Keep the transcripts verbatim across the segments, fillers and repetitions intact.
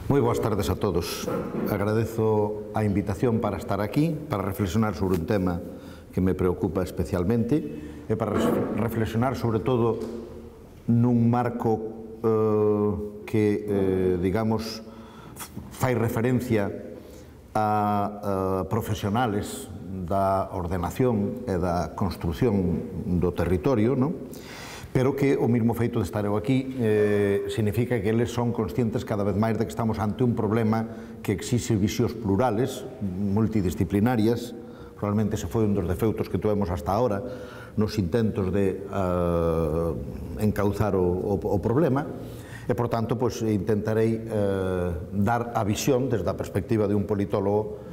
Moi boas tardes a todos. Agradezo a invitación para estar aquí, para reflexionar sobre un tema que me preocupa especialmente e para reflexionar sobre todo nun marco eh, que, eh, digamos, fai referencia a, a profesionales da ordenación e da construción do territorio, non? Pero que o mesmo feito de estar eu aquí eh, significa que eles son conscientes cada vez máis de que estamos ante un problema que exixe visións plurales, multidisciplinarias. Probablemente ese foi un dos defeutos que tuvemos hasta ahora nos intentos de uh, encauzar o, o, o problema e, por tanto, pues, intentarei uh, dar a visión desde a perspectiva de un politólogo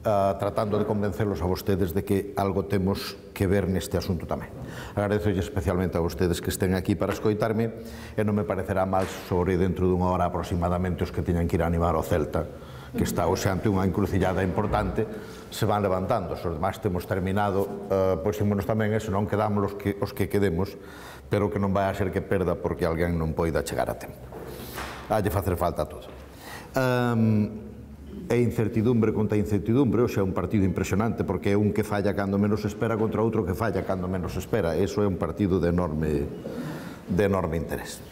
Uh, tratando de convencerlos a vostedes de que algo temos que ver neste asunto tamén. Agradezo especialmente a vostedes que estén aquí para escoitarme e non me parecerá mal sobre dentro dunha hora aproximadamente os que teñan que ir a animar o Celta, que está hoxe ante unha encrucillada importante, se van levantando. Se os demais temos terminado, uh, pois ímonos tamén e senón quedamos os que, os que quedemos, pero que non vai a ser que perda porque alguén non poida chegar a tempo. Halle facer falta a todo. Um, É incertidumbre contra incertidumbre, hoxe é un partido impresionante porque é un que falla cando menos espera contra outro que falla cando menos espera. Eso é un partido de enorme, de enorme interés.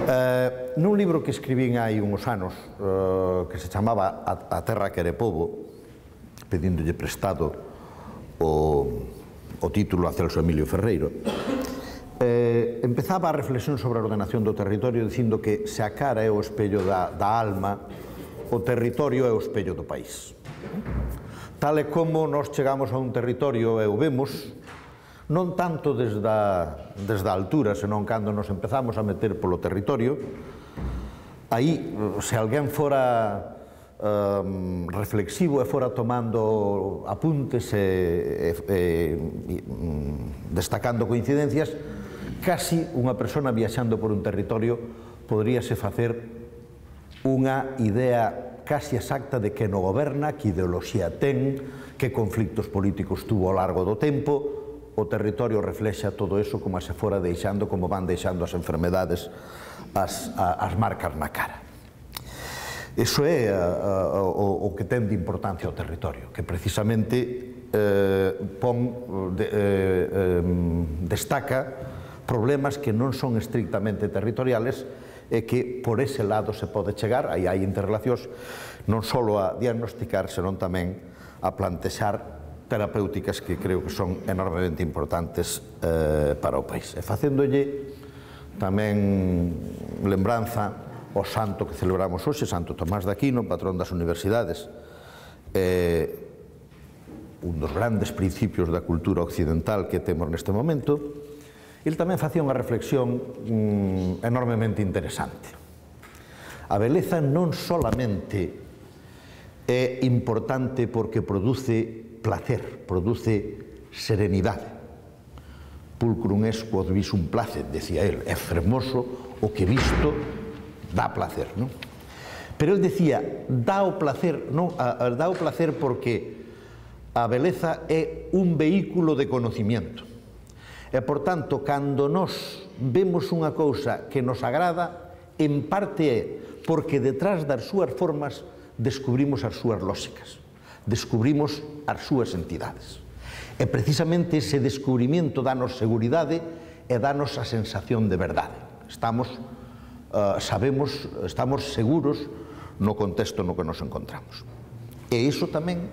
Eh, nun libro que escribín hai uns anos eh, que se chamaba A, a terra quere pobo, pedíndolle prestado o, o título a Celso Emilio Ferreiro, eh, empezaba a reflexión sobre a ordenación do territorio dicindo que se a cara é o espello da, da alma, o territorio é o espello do país. Tal e como nós chegamos a un territorio e o vemos, non tanto desde a, desde a altura, senón cando nos empezamos a meter polo territorio, aí, se alguén fora um, reflexivo e fora tomando apuntes e, e, e destacando coincidencias, casi unha persona viaxando por un territorio podríase facer unha idea casi exacta de que no goberna, que ideoloxía ten, que conflictos políticos tuvo ao largo do tempo. O territorio reflexa todo eso como se fora deixando, como van deixando as enfermedades, as, as marcas na cara. Iso é a, a, o, o que ten de importancia o territorio, que precisamente eh, pon, de, eh, eh, destaca problemas que non son estrictamente territoriales e que por ese lado se pode chegar, aí hai interrelacións, non só a diagnosticar, senón tamén a plantexar terapéuticas que creo que son enormemente importantes eh, para o país. E facéndolle tamén lembranza ao santo que celebramos hoxe, Santo Tomás de Aquino, patrón das universidades, eh, un dos grandes principios da cultura occidental que temos neste momento. El tamén facía unha reflexión mm, enormemente interesante. A beleza non solamente é importante porque produce placer, produce serenidade. Pulcrum est quod visum placet, decía el, é fermoso o que visto dá placer, non? Pero el decía, dá o placer, non, a, a, dá o placer porque a beleza é un vehículo de conocimiento. E, por tanto, cando nós vemos unha cousa que nos agrada, en parte é porque detrás das súas formas descubrimos as súas lóxicas, descubrimos as súas entidades. E precisamente ese descubrimento danos seguridade e danos a sensación de verdade. Estamos, uh, sabemos, estamos seguros no contexto no que nos encontramos. E iso tamén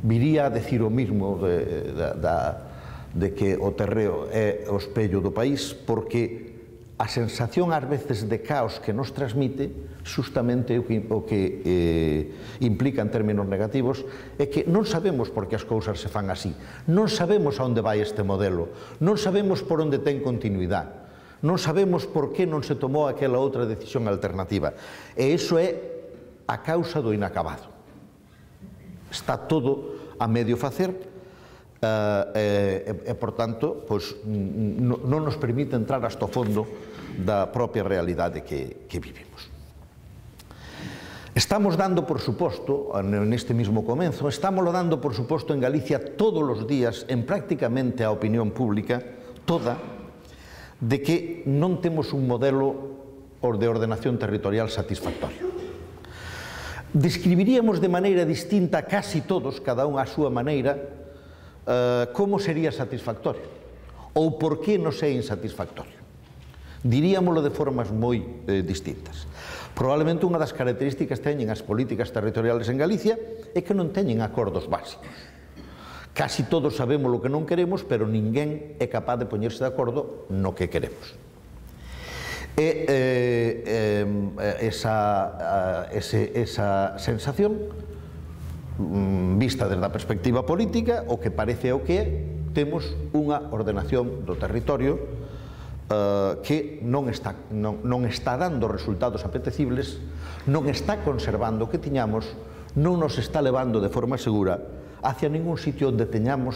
viría a decir o mismo de, de, da de que o terreo é o espello do país, porque a sensación ás veces de caos que nos transmite justamente o que, o que eh, implica en términos negativos é que non sabemos por que as cousas se fan así, non sabemos a onde vai este modelo, non sabemos por onde ten continuidade, non sabemos por que non se tomou aquela outra decisión alternativa, e iso é a causa do inacabado. Está todo a medio facer, Uh, e, e, por tanto, pues, non nos permite entrar hasta o fondo da propia realidade que, que vivimos. Estamos dando, por suposto, neste mismo comenzo, estamos dando, por suposto, en Galicia todos os días, en prácticamente a opinión pública, toda, de que non temos un modelo de ordenación territorial satisfactorio. describiríamos de maneira distinta casi todos, cada un á súa maneira, eh, como sería satisfactorio ou por que non é insatisfactorio. Diríamoslo de formas moi eh, distintas. Probablemente unha das características que teñen as políticas territoriales en Galicia é que non teñen acordos básicos. Casi todos sabemos o que non queremos, pero ninguén é capaz de poñerse de acordo no que queremos. E eh, eh, esa, ese, esa sensación, vista desde a perspectiva política, o que parece o que é, temos unha ordenación do territorio eh, que non está, non, non está dando resultados apetecibles, non está conservando o que tiñamos, non nos está levando de forma segura hacia ningún sitio onde teñamos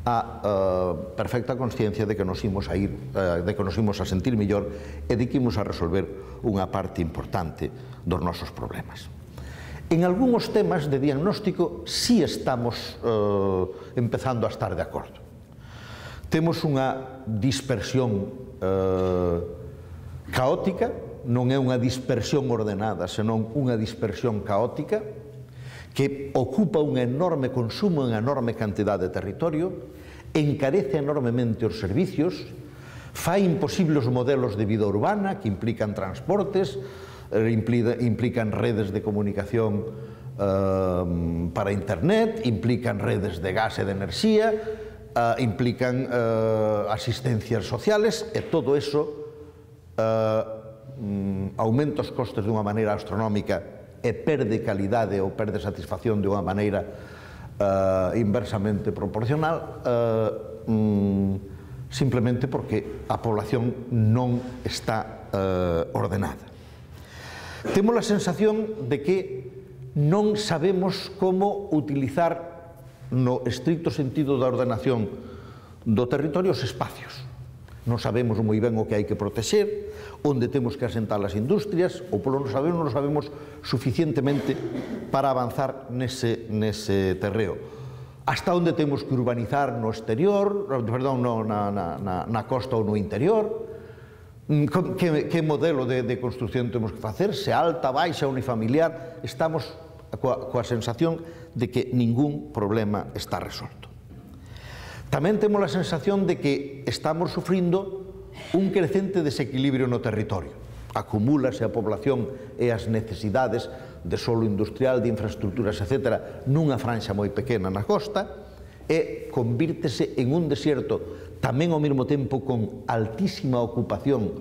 a uh, perfecta consciencia de que nos imos a ir, uh, de que nos imos a sentir mellor e de que imos a resolver unha parte importante dos nosos problemas. En algúns temas de diagnóstico sí estamos uh, empezando a estar de acordo. Temos unha dispersión uh, caótica, non é unha dispersión ordenada, senón unha dispersión caótica, que ocupa un enorme consumo, unha enorme cantidade de territorio, encarece enormemente os servicios, fai imposibles os modelos de vida urbana que implican transportes, implican redes de comunicación eh, para internet, implican redes de gas e de enerxía, eh, implican eh, asistencias sociales, e todo eso eh, aumenta os costes dunha maneira astronómica e perde calidade ou perde satisfacción de unha maneira uh, inversamente proporcional, uh, um, simplemente porque a población non está uh, ordenada. Temos a sensación de que non sabemos como utilizar no estricto sentido da ordenación do territorio os espacios. Non sabemos moi ben o que hai que protexer, onde temos que asentar as industrias, ou polo non sabemos, non sabemos suficientemente para avanzar nese, nese terreo. Hasta onde temos que urbanizar no exterior, perdón, no, na, na, na costa ou no interior, que, que modelo de, de construcción temos que facer, se alta, baixa, unifamiliar, estamos coa, coa sensación de que ningún problema está resolto. Tamén temos a sensación de que estamos sufrindo un crecente desequilibrio no territorio. Acumúlase a población e as necesidades de solo industrial, de infraestructuras, etcétera, nunha franxa moi pequena na costa, e convírtese en un desierto tamén ao mesmo tempo con altísima ocupación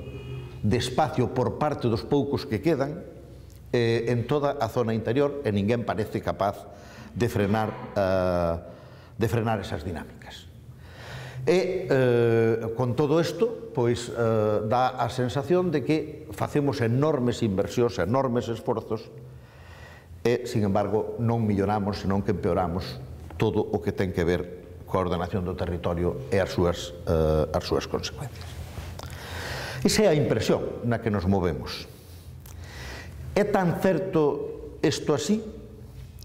de espacio por parte dos poucos que quedan eh, en toda a zona interior, e ninguén parece capaz de frenar, eh, de frenar esas dinámicas. E, eh, con todo isto, pois, eh, dá a sensación de que facemos enormes inversións, enormes esforzos, e, sin embargo, non milloramos, senón que empeoramos todo o que ten que ver coa ordenación do territorio e as súas, eh, as súas consecuencias. Esa é a impresión na que nos movemos. É tan certo isto así?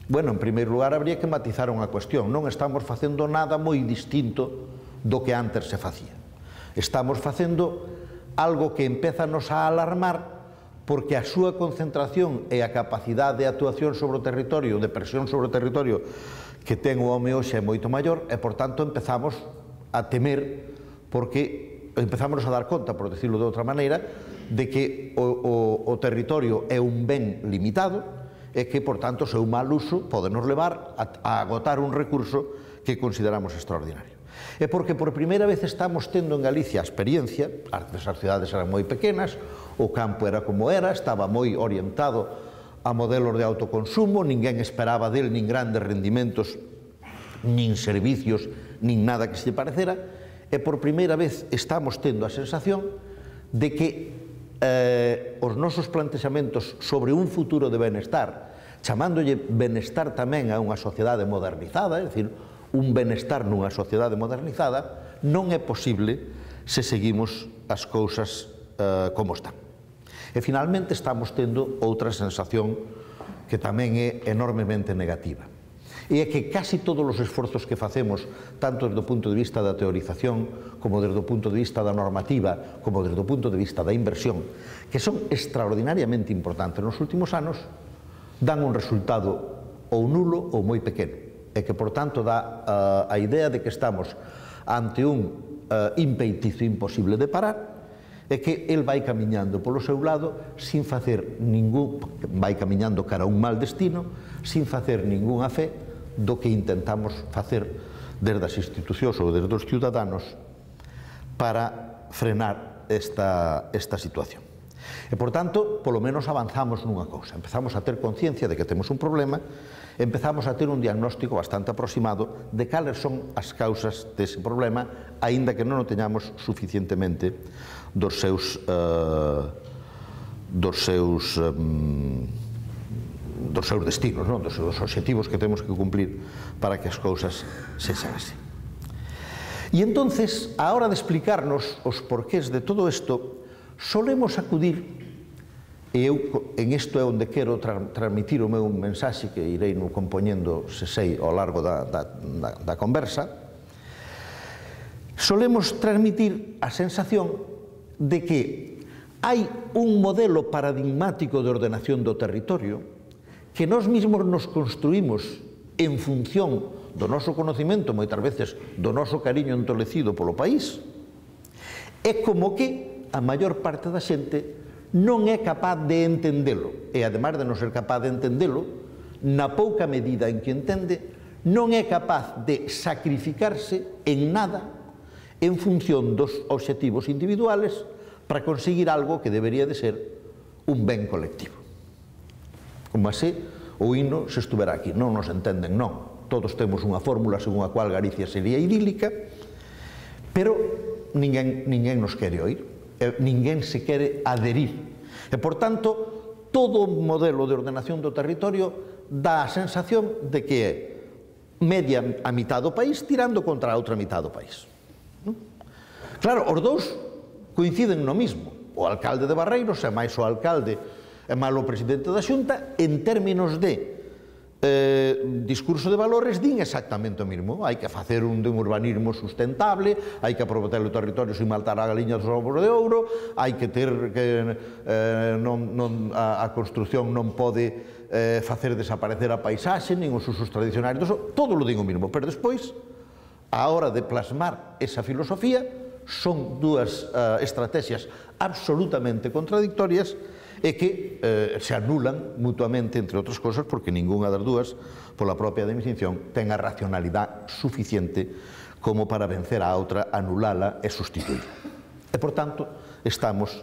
Bueno, en primeiro lugar, habría que matizar unha cuestión. Non estamos facendo nada moi distinto do que antes se facía. Estamos facendo algo que empézanos a alarmar porque a súa concentración e a capacidade de actuación sobre o territorio, de presión sobre o territorio que ten o home hoxe é moito maior, e, por tanto, empezamos a temer porque empezamos a dar conta, por decirlo de outra maneira, de que o, o, o territorio é un ben limitado e que, por tanto, o seu mal uso pode nos levar a, a agotar un recurso que consideramos extraordinario. É porque por primeira vez estamos tendo en Galicia a experiencia, antes as cidades eran moi pequenas, o campo era como era, estaba moi orientado a modelos de autoconsumo, ninguén esperaba del nin grandes rendimentos, nin servicios, nin nada que se parecera, e por primeira vez estamos tendo a sensación de que eh, os nosos plantexamentos sobre un futuro de benestar, chamándolle benestar tamén a unha sociedade modernizada, é dicir, un benestar nunha sociedade modernizada, non é posible se seguimos as cousas eh, como están. E finalmente estamos tendo outra sensación que tamén é enormemente negativa. E é que casi todos os esforzos que facemos, tanto desde o punto de vista da teorización, como desde o punto de vista da normativa, como desde o punto de vista da inversión, que son extraordinariamente importantes nos últimos anos, dan un resultado ou nulo ou moi pequeno, e que, por tanto, dá a idea de que estamos ante un impeitizo imposible de parar, e que el vai camiñando polo seu lado sin facer ningún, vai camiñando cara a un mal destino, sin facer ningunha fe do que intentamos facer desde as institucións ou desde os ciudadanos para frenar esta, esta situación. E, por tanto, polo menos avanzamos nunha cousa. Empezamos a ter conciencia de que temos un problema, empezamos a ter un diagnóstico bastante aproximado de cales son as causas dese problema, aínda que non o teñamos suficientemente dos seus uh, dos seus um, dos seus destinos, non? Dos seus obxectivos que temos que cumplir para que as cousas sexan así. E entonces, a hora de explicarnos os porqués de todo isto, solemos acudir, e eu en isto é onde quero tra transmitir o meu mensaxe que irei no compoñendo, se sei, ao largo da, da, da, da conversa, solemos transmitir a sensación de que hai un modelo paradigmático de ordenación do territorio que nós mesmos nos construímos en función do noso conocimento, moitas veces do noso cariño entolecido polo país, é como que a maior parte da xente non é capaz de entendelo, e ademais de non ser capaz de entendelo, na pouca medida en que entende, non é capaz de sacrificarse en nada en función dos obxectivos individuales para conseguir algo que debería de ser un ben colectivo. Como así, o hino se estuvera aquí. Non nos entenden, non. Todos temos unha fórmula según a cual Galicia sería idílica, pero ninguén, ninguén nos quere oír, ninguén se quere adherir. E, por tanto, todo o modelo de ordenación do territorio dá a sensación de que é media a mitad do país tirando contra a outra mitad do país. Claro, os dous coinciden no mismo. O alcalde de Barreiros é máis o alcalde e máis o presidente da Xunta en términos de Eh, discurso de valores din exactamente o mismo. Hai que facer un, un urbanismo sustentable, hai que aproveitar o territorio sin maltar a galiña dos ovos de ouro, hai que ter que eh, non, non, a, a construción non pode eh, facer desaparecer a paisaxe nin os usos tradicionais, todo lo din o mismo, pero despois a hora de plasmar esa filosofía son dúas uh, estrategias absolutamente contradictorias e que eh, se anulan mutuamente, entre outras cosas, porque ningunha das dúas, pola propia definición, ten a racionalidade suficiente como para vencer a outra, anulala e sustituir. E, por tanto, estamos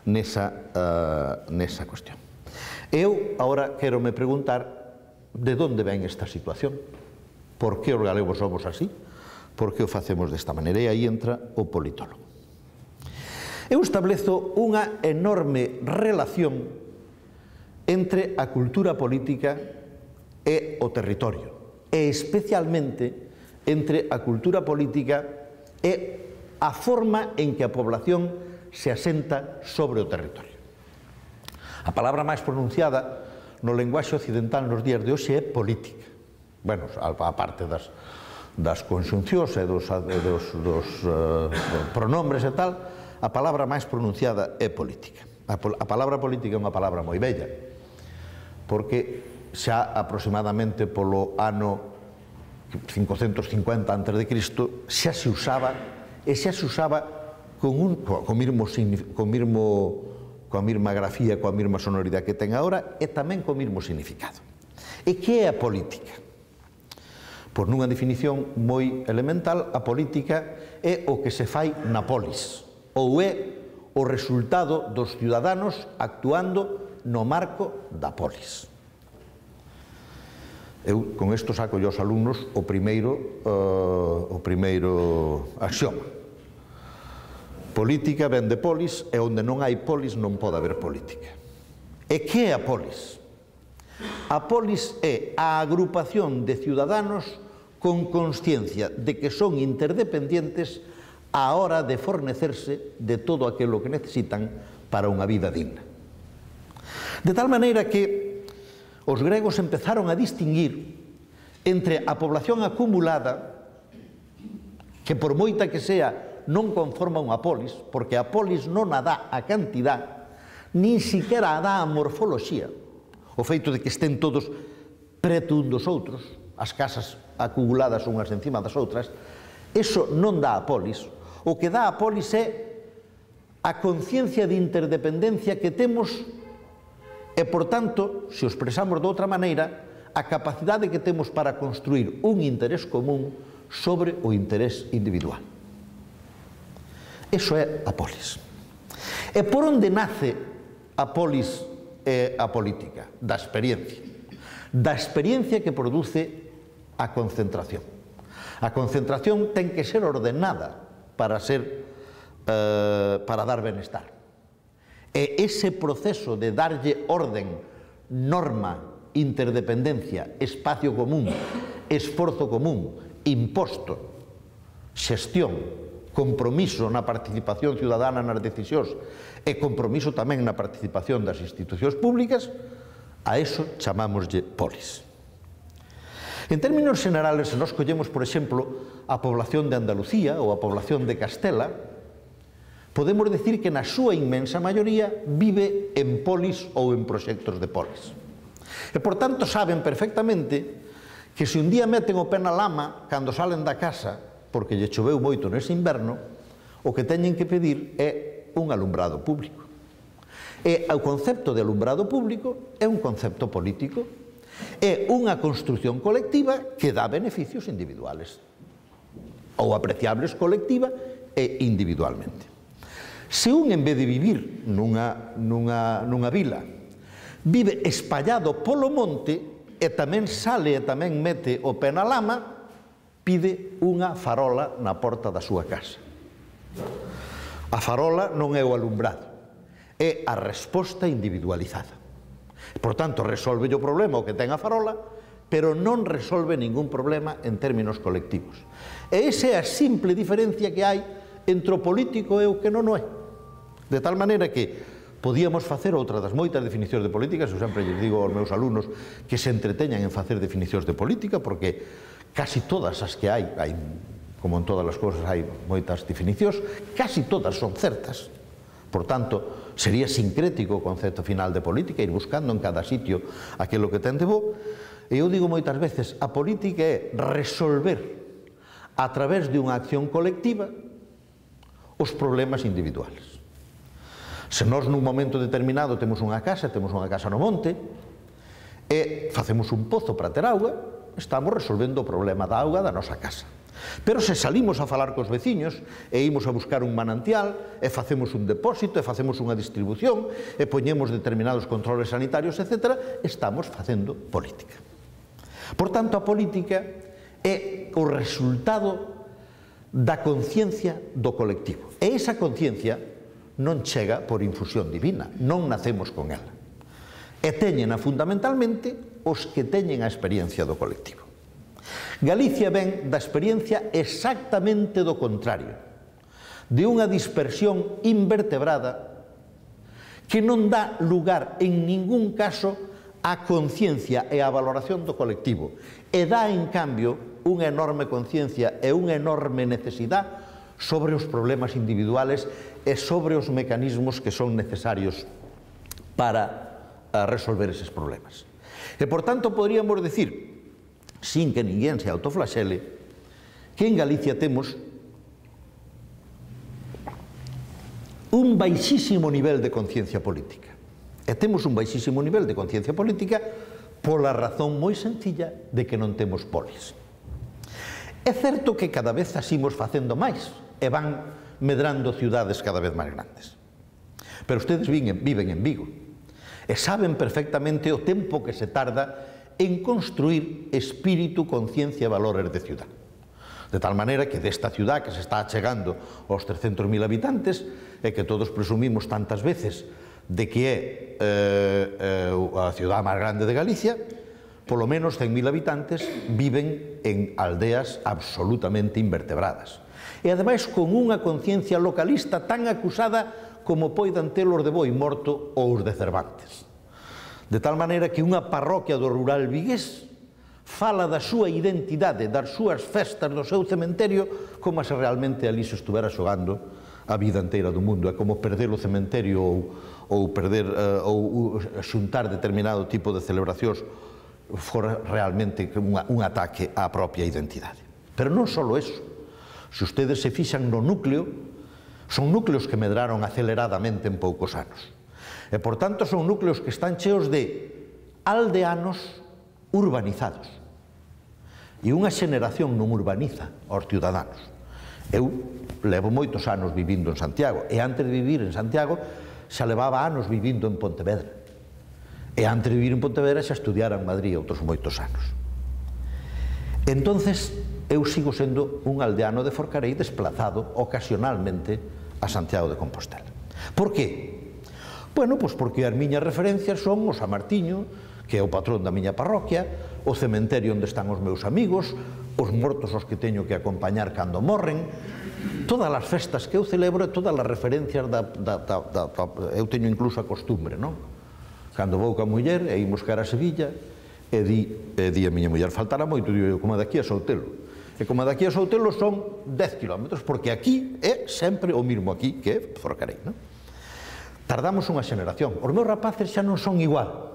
nesa, uh, nesa cuestión. Eu, agora, quero me preguntar de onde ven esta situación. Por que os galegos somos así? Por que o facemos desta maneira? E aí entra o politólogo. Eu establezo unha enorme relación entre a cultura política e o territorio, e especialmente entre a cultura política e a forma en que a población se asenta sobre o territorio. A palabra máis pronunciada no lenguaxe occidental nos días de hoxe é política. Bueno, a parte das, das conxuncións e dos, dos, dos uh, pronombres e tal, a palabra máis pronunciada é política. A, a palabra política é unha palabra moi bella, porque xa aproximadamente polo ano cincocentos cincuenta antes de Cristo xa se usaba, e xa se usaba con, un, con, mismo, con, mismo, coa mesma grafía, coa mesma sonoridade que ten agora, e tamén co mesmo significado. E que é a política? Por nunha definición moi elemental, a política é o que se fai na polis, ou é o resultado dos ciudadanos actuando no marco da polis. Eu con isto saco aos alumnos o primeiro, uh, o primeiro axioma. Política ven de polis, e onde non hai polis non pode haber política. E que é a polis? A polis é a agrupación de ciudadanos con consciencia de que son interdependientes á hora de fornecerse de todo aquilo que necesitan para unha vida digna. De tal maneira que os gregos empezaron a distinguir entre a población acumulada, que por moita que sea non conforma unha polis, porque a polis non a dá a cantidad, nin siquiera a dá a morfoloxía. o feito de que estén todos preto un dos outros, as casas acumuladas unhas encima das outras, eso non dá a polis. O que dá a polis é a conciencia de interdependencia que temos e, por tanto, se o expresamos de outra maneira, a capacidade que temos para construir un interés común sobre o interés individual. Eso é a polis. E por onde nace a polis e a política? Da experiencia. Da experiencia que produce a concentración. A concentración ten que ser ordenada para ser, eh, para dar benestar. E ese proceso de darlle orden, norma, interdependencia, espacio común, esforzo común, imposto, xestión, compromiso na participación ciudadana nas decisións e compromiso tamén na participación das institucións públicas, a eso chamámoslle polis. En términos generales, se nos collemos, por exemplo, a población de Andalucía ou a población de Castela, podemos decir que na súa inmensa maioría vive en polis ou en proxectos de polis. E, por tanto, saben perfectamente que se un día meten o pé na lama cando salen da casa, porque lle choveu moito nese inverno, o que teñen que pedir é un alumbrado público. E o concepto de alumbrado público é un concepto político, é unha construción colectiva que dá beneficios individuales, ou apreciables colectiva e individualmente. Se un, en vez de vivir nunha, nunha, nunha vila, vive espallado polo monte e tamén sale e tamén mete o pé na lama, pide unha farola na porta da súa casa. A farola non é o alumbrado, é a resposta individualizada. Por tanto, resolve o problema o que ten a farola, pero non resolve ningún problema en términos colectivos. E esa é a simple diferencia que hai entre o político e o que non o é. De tal maneira que podíamos facer outra das moitas definicións de política, eu sempre lles digo aos meus alumnos que se entreteñan en facer definicións de política, porque casi todas as que hai, hai como en todas as cousas hai moitas definicións, casi todas son certas. Por tanto, sería sincrético o concepto final de política, ir buscando en cada sitio aquilo que ten de bo. E eu digo moitas veces, a política é resolver a través de unha acción colectiva os problemas individuales. Se nós nun momento determinado temos unha casa, temos unha casa no monte, e facemos un pozo para ter auga, estamos resolvendo o problema da auga da nosa casa. Pero se salimos a falar cos veciños, e imos a buscar un manantial, e facemos un depósito, e facemos unha distribución, e poñemos determinados controles sanitarios, etcétera, estamos facendo política. Por tanto, a política é o resultado da conciencia do colectivo. E esa conciencia non chega por infusión divina, non nacemos con ela. E teñena fundamentalmente os que teñen a experiencia do colectivo. Galicia ven da experiencia exactamente do contrario, de unha dispersión invertebrada que non dá lugar en ningún caso á conciencia e á valoración do colectivo, e dá, en cambio, unha enorme conciencia e unha enorme necesidade sobre os problemas individuales e sobre os mecanismos que son necesarios para resolver eses problemas. E, por tanto, poderíamos decir, sin que ninguén se autoflaxele, que en Galicia temos un baixísimo nivel de conciencia política. E temos un baixísimo nivel de conciencia política pola razón moi sencilla de que non temos polis. É certo que cada vez asimos facendo máis, e van medrando ciudades cada vez máis grandes. Pero ustedes viven en Vigo e saben perfectamente o tempo que se tarda en construir espírito, conciencia e valores de ciudad. De tal maneira que desta ciudad que se está achegando aos trescentos mil habitantes e que todos presumimos tantas veces de que é eh, eh, a ciudad máis grande de Galicia, polo menos cen mil habitantes viven en aldeas absolutamente invertebradas. E, ademais, con unha conciencia localista tan acusada como poidan ter os de Boi Morto ou os de Cervantes. De tal maneira que unha parroquia do rural vigués fala da súa identidade, das súas festas, do seu cementerio, como se realmente ali se estuvera xogando a vida inteira do mundo. É como perder o cementerio ou, ou perder uh, ou xuntar determinado tipo de celebracións fora realmente unha, un ataque á propia identidade. Pero non só eso. Se ustedes se fixan no núcleo, son núcleos que medraron aceleradamente en poucos anos. E, por tanto, son núcleos que están cheos de aldeanos urbanizados. E unha xeneración non urbaniza aos ciudadanos. Eu levo moitos anos vivindo en Santiago, e antes de vivir en Santiago xa levaba anos vivindo en Pontevedra. E antes de vivir en Pontevedra xa estudiara en Madrid outros moitos anos. Entonces, eu sigo sendo un aldeano de Forcarei desplazado ocasionalmente a Santiago de Compostela. Por qué? Bueno, pois porque as miñas referencias son o San Martiño, que é o patrón da miña parroquia, o cementerio onde están os meus amigos, os mortos aos que teño que acompañar cando morren, todas as festas que eu celebro e todas as referencias da, da, da, da, da... Eu teño incluso a costumbre, non? Cando vou ca muller e imos cara a Sevilla, e di, e di a miña muller, faltará moito, digo, como daqui a Soutelo. E como daqui a Soutelo son dez kilómetros, porque aquí é sempre o mismo aquí, que é Forcarei, non? Tardamos unha xeneración. Os meus rapaces xa non son igual.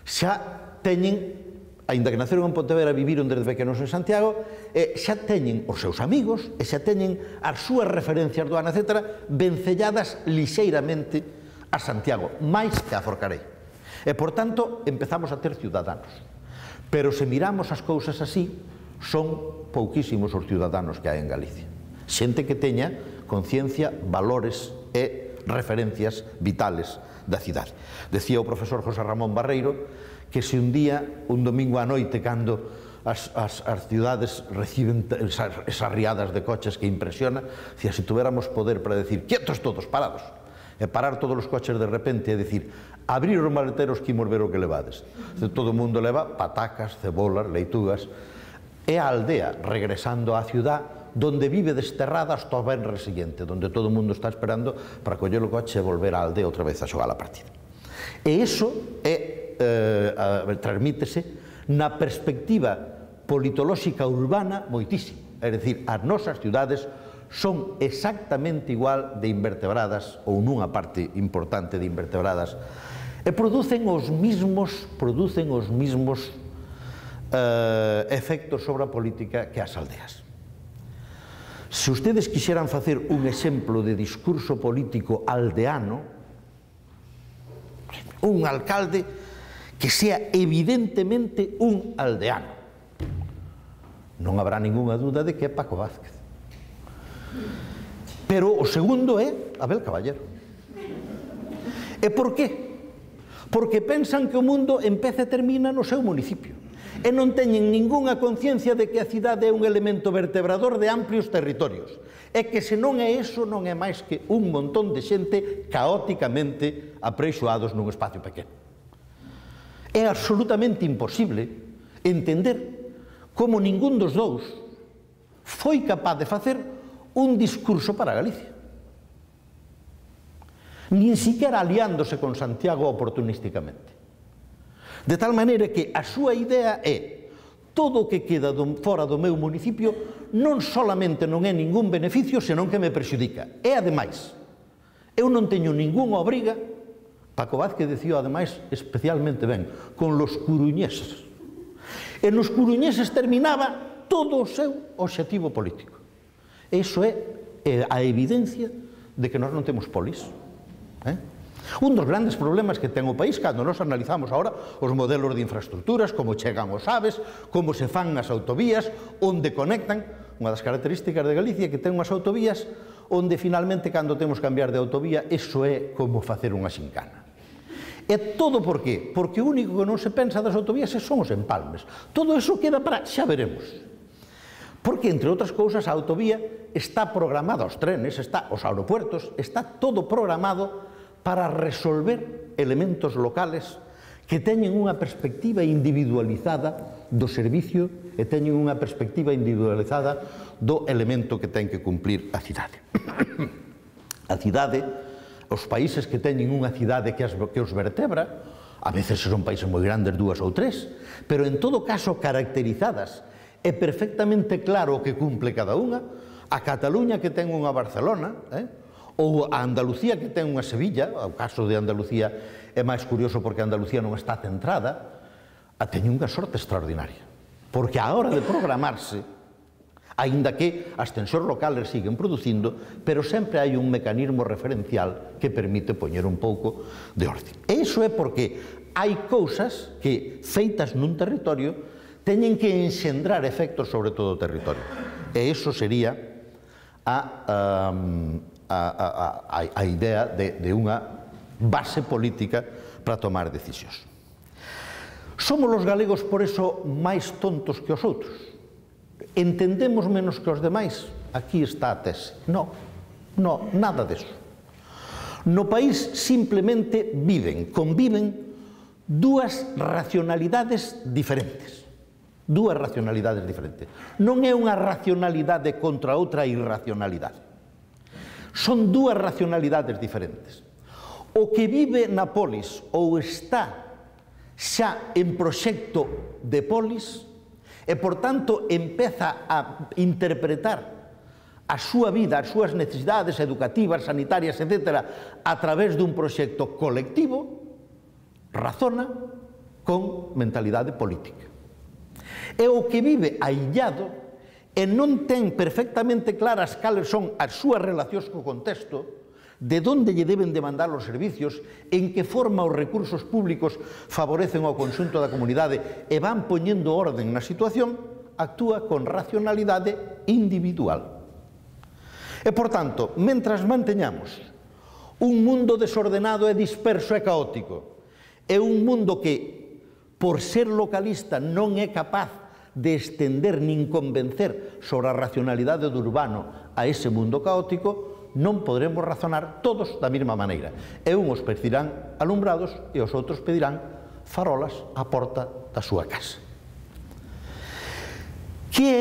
Xa teñen, aínda que naceron en Pontevedra, viviron desde pequenos en Santiago, e xa teñen os seus amigos, e xa teñen as súas referencias do ano, etcétera, vencelladas lixeiramente a Santiago, máis que a Forcarei. E, por tanto, empezamos a ter ciudadanos. Pero se miramos as cousas así, son pouquísimos os ciudadanos que hai en Galicia. Xente que teña conciencia, valores e referencias vitales da cidade. Decía o profesor José Ramón Barreiro que se un día, un domingo á noite, cando as, as, as cidades reciben esas, esas riadas de coches que impresiona, decía, se tuviéramos poder para decir, quietos todos, parados, e parar todos os coches de repente e decir, abrir os maleteros que imos ver o que levades. Todo o mundo leva patacas, cebolas, leitugas, e a aldea regresando á ciudad donde vive desterrada hasta o venres siguiente, donde todo o mundo está esperando para coller o coche e volver á aldea outra vez a xogar a partida. E iso é, eh, transmítese na perspectiva politolóxica urbana moitísimo. É dicir, as nosas ciudades son exactamente igual de invertebradas, ou nunha parte importante de invertebradas, e producen os mismos, producen os mismos eh, efectos sobre a política que as aldeas. Se ustedes quixeran facer un exemplo de discurso político aldeano, un alcalde que sea evidentemente un aldeano, non habrá ningunha dúda de que é Paco Vázquez. Pero o segundo é Abel Caballero. E por qué? Porque pensan que o mundo empeza e termina no seu municipio. E non teñen ningunha conciencia de que a cidade é un elemento vertebrador de amplios territorios. E que se non é eso, non é máis que un montón de xente caóticamente apreixoados nun espacio pequeno. É absolutamente imposible entender como ningún dos dous foi capaz de facer un discurso para Galicia. Nin siquiera aliándose con Santiago oportunísticamente. De tal maneira que a súa idea é todo o que queda fora do meu municipio non solamente non é ningún beneficio, senón que me perxudica. E, ademais, eu non teño ningunha obriga, Paco Vázquez decía, ademais, especialmente ben, con los coruñeses. E nos coruñeses terminaba todo o seu obxectivo político. Iso é a evidencia de que nós non temos polis. Eh? Un dos grandes problemas que ten o país, cando nos analizamos agora os modelos de infraestructuras, como chegan os aves, como se fan as autovías, onde conectan, unha das características de Galicia que ten unhas autovías onde finalmente, cando temos que cambiar de autovía, iso é como facer unha xincana. E todo por qué? Porque o único que non se pensa das autovías son os empalmes. Todo iso queda para xa veremos. Porque, entre outras cousas, a autovía está programada, os trenes, está, os aeropuertos, está todo programado para resolver elementos locales que teñen unha perspectiva individualizada do servicio e teñen unha perspectiva individualizada do elemento que ten que cumplir a cidade. A cidade, os países que teñen unha cidade que, as, que os vertebra, a veces son países moi grandes, dúas ou tres, pero en todo caso caracterizadas e perfectamente claro o que cumple cada unha. a Cataluña que ten unha Barcelona, eh? ou a Andalucía que ten unha Sevilla. O caso de Andalucía é máis curioso porque Andalucía non está centrada, a teñen unha sorte extraordinaria, porque a hora de programarse, aínda que as tensións locales siguen producindo, pero sempre hai un mecanismo referencial que permite poñer un pouco de orden. E iso é porque hai cousas que, feitas nun territorio, teñen que enxendrar efectos sobre todo o territorio. E iso sería a, um, a, a, a, a idea de, de unha base política para tomar decisións. Somos os galegos, por eso, máis tontos que os outros. Entendemos menos que os demais. Aquí está a tese. No, no, nada deso. No país simplemente viven, conviven dúas racionalidades diferentes. Dúas racionalidades diferentes. Non é unha racionalidade contra outra irracionalidade. Son dúas racionalidades diferentes. O que vive na polis ou está xa en proxecto de polis e, por tanto, empeza a interpretar a súa vida, as súas necesidades educativas, sanitarias, etcétera, a través dun proxecto colectivo, razona con mentalidade política. E o que vive aillado e non ten perfectamente claras cales son as súas relacións co contexto, de onde lle deben demandar os servicios, en que forma os recursos públicos favorecen ao conxunto da comunidade e van poñendo orden na situación, actúa con racionalidade individual. E, por tanto, mentras manteñamos un mundo desordenado e disperso e caótico, e un mundo que, por ser localista, non é capaz de estender nin convencer sobre a racionalidade do urbano a ese mundo caótico, non podremos razonar todos da mesma maneira. E uns pedirán alumbrados e os outros pedirán farolas á porta da súa casa. Que,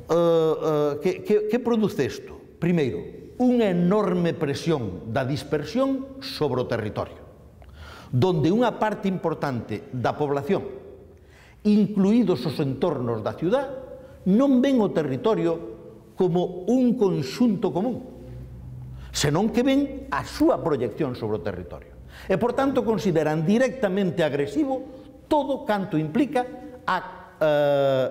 uh, uh, que, que, que produce isto? Primeiro, unha enorme presión da dispersión sobre o territorio, donde unha parte importante da población, incluídos os entornos da ciudad, non ven o territorio como un conxunto común, senón que ven a súa proyección sobre o territorio. E, por tanto, consideran directamente agresivo todo canto implica a, eh,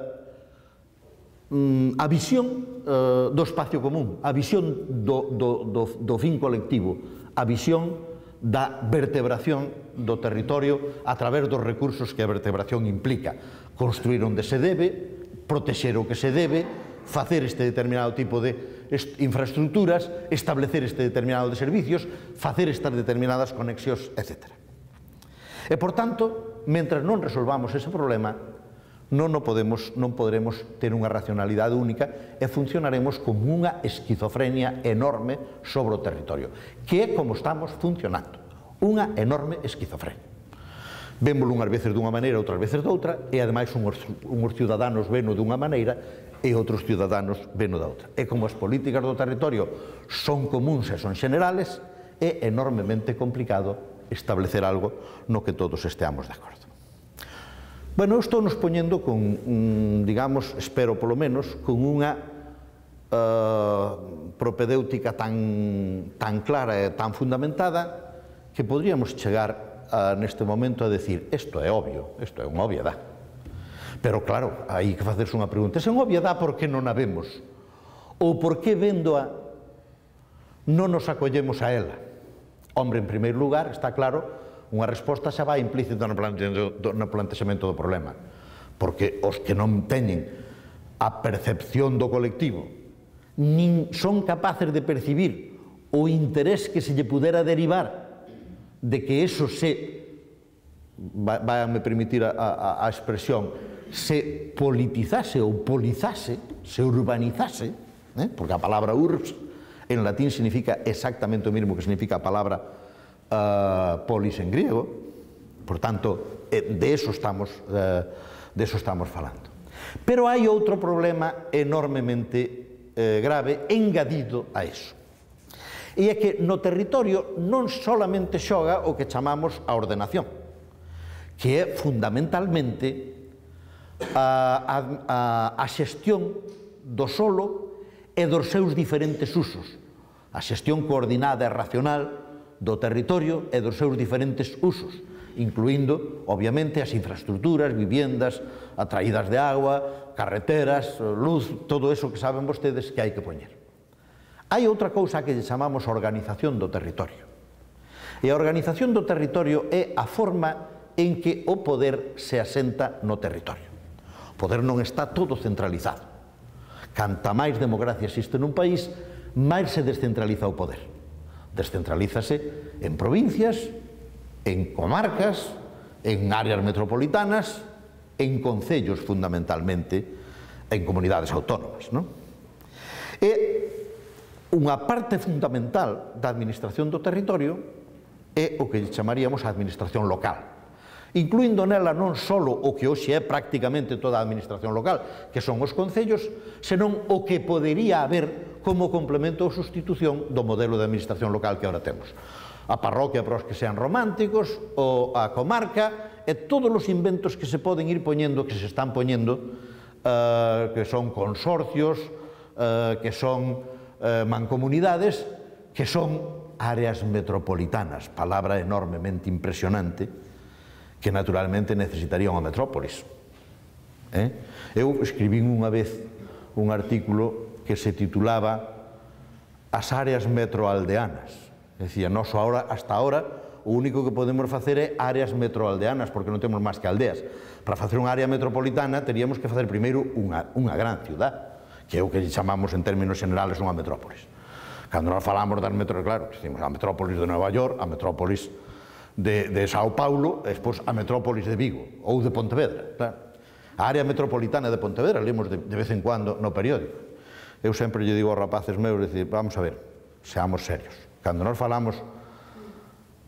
a visión eh, do espacio común, a visión do, do, do, do fin colectivo, a visión da vertebración do territorio a través dos recursos que a vertebración implica. Construir onde se debe, protexer o que se debe, facer este determinado tipo de infraestructuras, establecer este determinado de servicios, facer estas determinadas conexións, etcétera. E, por tanto, mentras non resolvamos ese problema, non, podemos, non poderemos ter unha racionalidade única e funcionaremos como unha esquizofrenia enorme sobre o territorio, que é como estamos funcionando, unha enorme esquizofrenia. Vémolo unhas veces dunha maneira, outras veces doutra, e, ademais, uns, uns ciudadanos veno dunha maneira e outros ciudadanos veno da outra. E como as políticas do territorio son comuns e son generales, é enormemente complicado establecer algo no que todos esteamos de acordo. Bueno, eu estou nos poñendo con, digamos, espero polo menos, con unha uh, propedéutica tan, tan clara e tan fundamentada que podríamos chegar uh, neste momento a decir isto é obvio, isto é unha obviedade. Pero, claro, hai que facerse unha pregunta. Se é unha obviedade, por que non a vemos? Ou por que, vendo-a, non nos acollemos a ela? Hombre, en primeiro lugar, está claro, unha resposta xa vai implícita no plantexamento do problema. Porque os que non teñen a percepción do colectivo, nin son capaces de percibir o interés que se lle pudera derivar de que eso se, váiame permitir a, a, a expresión, se politizase ou polizase, se urbanizase, eh? porque a palabra urbs en latín significa exactamente o mesmo que significa a palabra uh, polis en griego, por tanto, de eso estamos, uh, de eso estamos falando. Pero hai outro problema enormemente eh, grave engadido a eso. E é que no territorio non solamente xoga o que chamamos a ordenación, que é fundamentalmente a, a, a xestión do solo e dos seus diferentes usos. A xestión coordinada e racional do territorio e dos seus diferentes usos, incluindo, obviamente, as infraestructuras, viviendas, atraídas de agua, carreteras, luz, todo eso que saben vostedes que hai que poñer. Hai outra cousa que chamamos organización do territorio. E a organización do territorio é a forma en que o poder se asenta no territorio. O poder non está todo centralizado. Canta máis democracia existe nun país, máis se descentraliza o poder. Descentralízase en provincias, en comarcas, en áreas metropolitanas, en concellos fundamentalmente, en comunidades autónomas, non? E unha parte fundamental da administración do territorio é o que chamaríamos a administración local, incluindo nela non só o que hoxe é prácticamente toda a administración local, que son os concellos, senón o que podería haber como complemento ou sustitución do modelo de administración local que agora temos. A parroquia para os que sean románticos, ou a comarca, e todos os inventos que se poden ir poñendo, que se están poñendo, eh, que son consorcios, eh, que son eh, mancomunidades, que son áreas metropolitanas, palabra enormemente impresionante, que naturalmente necesitaría unha metrópolis. Eh? Eu escribín unha vez un artículo que se titulaba As áreas metroaldeanas. Decía, nos ahora, hasta ahora, o único que podemos facer é áreas metroaldeanas, porque non temos máis que aldeas. Para facer unha área metropolitana, teríamos que facer primeiro unha, unha gran ciudad, que é o que chamamos en términos generales unha metrópolis. Cando nós falamos das metrópolis, claro, decimos a metrópolis de Nova York, a metrópolis de, de Sao Paulo, e despois a metrópolis de Vigo, ou de Pontevedra. Claro. A área metropolitana de Pontevedra, lemos de, de vez en cuando no periódico. Eu sempre lle digo aos rapaces meus, decir, vamos a ver, seamos serios. Cando nós falamos,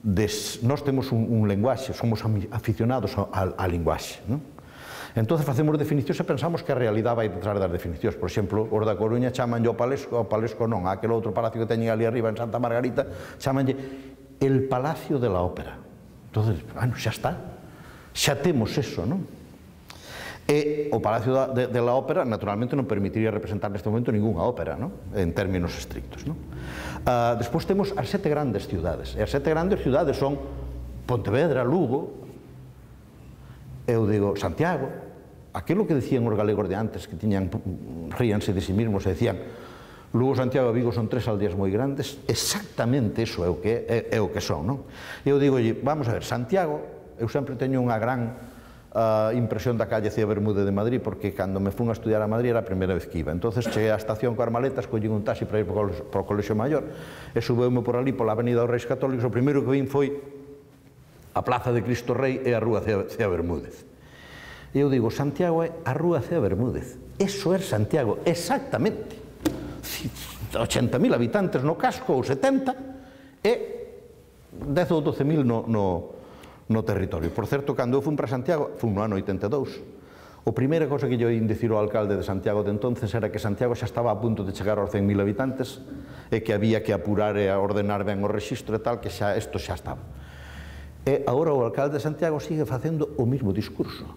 de, nós temos un, un lenguaxe, somos aficionados á linguaxe, non? Entón, facemos definicións e pensamos que a realidade vai detrás das definicións. Por exemplo, os da Coruña chamanlle o Palesco, o Palesco non, aquel outro palacio que teñen ali arriba en Santa Margarita, chamanlle el Palacio de la Ópera. Entón, bueno, xa está, xa temos eso, non? E o Palacio de, de la Ópera, naturalmente, non permitiría representar neste momento ninguna ópera, non? En términos estrictos, non? Uh, despois temos as sete grandes ciudades, e as sete grandes ciudades son Pontevedra, Lugo, eu digo Santiago, aquilo que decían os galegos de antes, que tiñan, ríanse de si mismos e decían Lugo, Santiago e Vigo son tres aldeas moi grandes, exactamente iso é o que, é, é o que son, non? Eu digo, vamos a ver, Santiago, eu sempre teño unha gran uh, impresión da calle Cía Bermúdez de Madrid, porque cando me fun a estudiar a Madrid era a primeira vez que iba. Entonces cheguei á estación coas maletas, collín un taxi para ir para o Colexio Maior, e subeume por ali, pola Avenida dos Reis Católicos, o primeiro que vin foi a Plaza de Cristo Rei e a Rúa Cea Bermúdez. E eu digo, Santiago é a Rúa Cea Bermúdez. Eso é Santiago, exactamente. ochenta mil habitantes no casco, ou setenta, e dez ou doce mil no, no, no territorio. Por certo, cando eu fun para Santiago, fun no ano oitenta e dous, o primeira cosa que lle oín dicir ao alcalde de Santiago de entonces era que Santiago xa estaba a punto de chegar aos cen mil habitantes e que había que apurar e ordenar ben o rexistro e tal, que xa isto xa estaba. E agora o alcalde de Santiago sigue facendo o mismo discurso.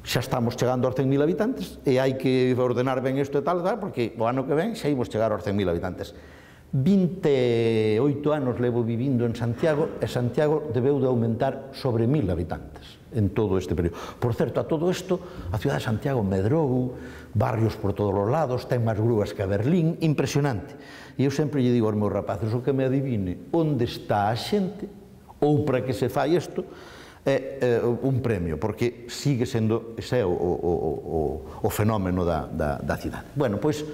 Xa estamos chegando aos cen mil habitantes e hai que ordenar ben isto e tal, tal, porque o ano que ven xa imos chegar aos cen mil habitantes. vinte e oito anos levo vivindo en Santiago e Santiago debeu de aumentar sobre mil habitantes en todo este período. Por certo, a todo isto, a cidade de Santiago medrou, barrios por todos os lados, ten máis grúas que a Berlín, impresionante. E eu sempre lle digo aos meus rapaces, o que me adivine onde está a xente ou para que se fai isto, é, é un premio, porque sigue sendo, ese é o, o, o, o fenómeno da, da, da cidade. Bueno, pois,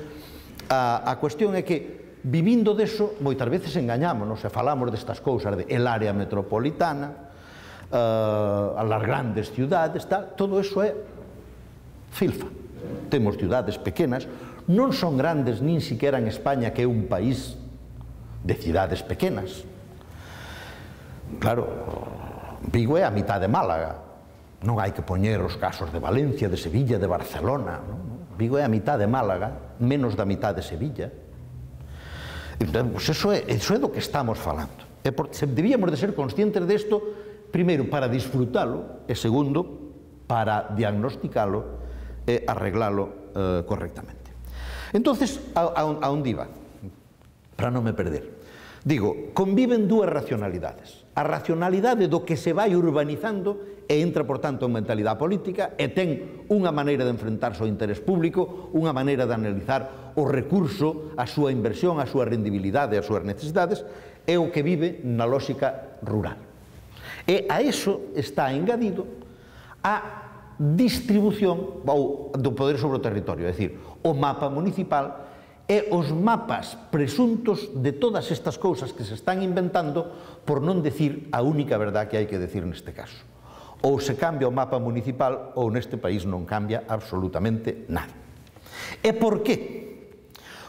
a, a cuestión é que, vivindo deso, moitas veces engañámonos e falamos destas cousas, de el área metropolitana, uh, as grandes ciudades, tal, todo eso é filfa. Temos ciudades pequenas, non son grandes nin siquiera en España, que é un país de cidades pequenas. Claro, Vigo é a mitad de Málaga, non hai que poñer os casos de Valencia, de Sevilla, de Barcelona, non? Vigo é a mitad de Málaga, menos da mitad de Sevilla. Entón, pues eso, é, eso é do que estamos falando. E por, debíamos de ser conscientes desto, primeiro, para disfrutalo, e segundo, para diagnosticalo e arreglalo eh, correctamente. Entonces, a, a, a onde iba? Para non me perder. Digo, conviven dúas racionalidades. A racionalidade do que se vai urbanizando e entra, por tanto, en mentalidade política e ten unha maneira de enfrentarse ao interés público, unha maneira de analizar o recurso, a súa inversión, a súa rendibilidade, as súas necesidades, é o que vive na lógica rural. E a eso está engadido a distribución do poder sobre o territorio, é dicir, o mapa municipal e os mapas presuntos de todas estas cousas que se están inventando, por non decir a única verdad que hai que decir neste caso. Ou se cambia o mapa municipal ou neste país non cambia absolutamente nada. E por qué?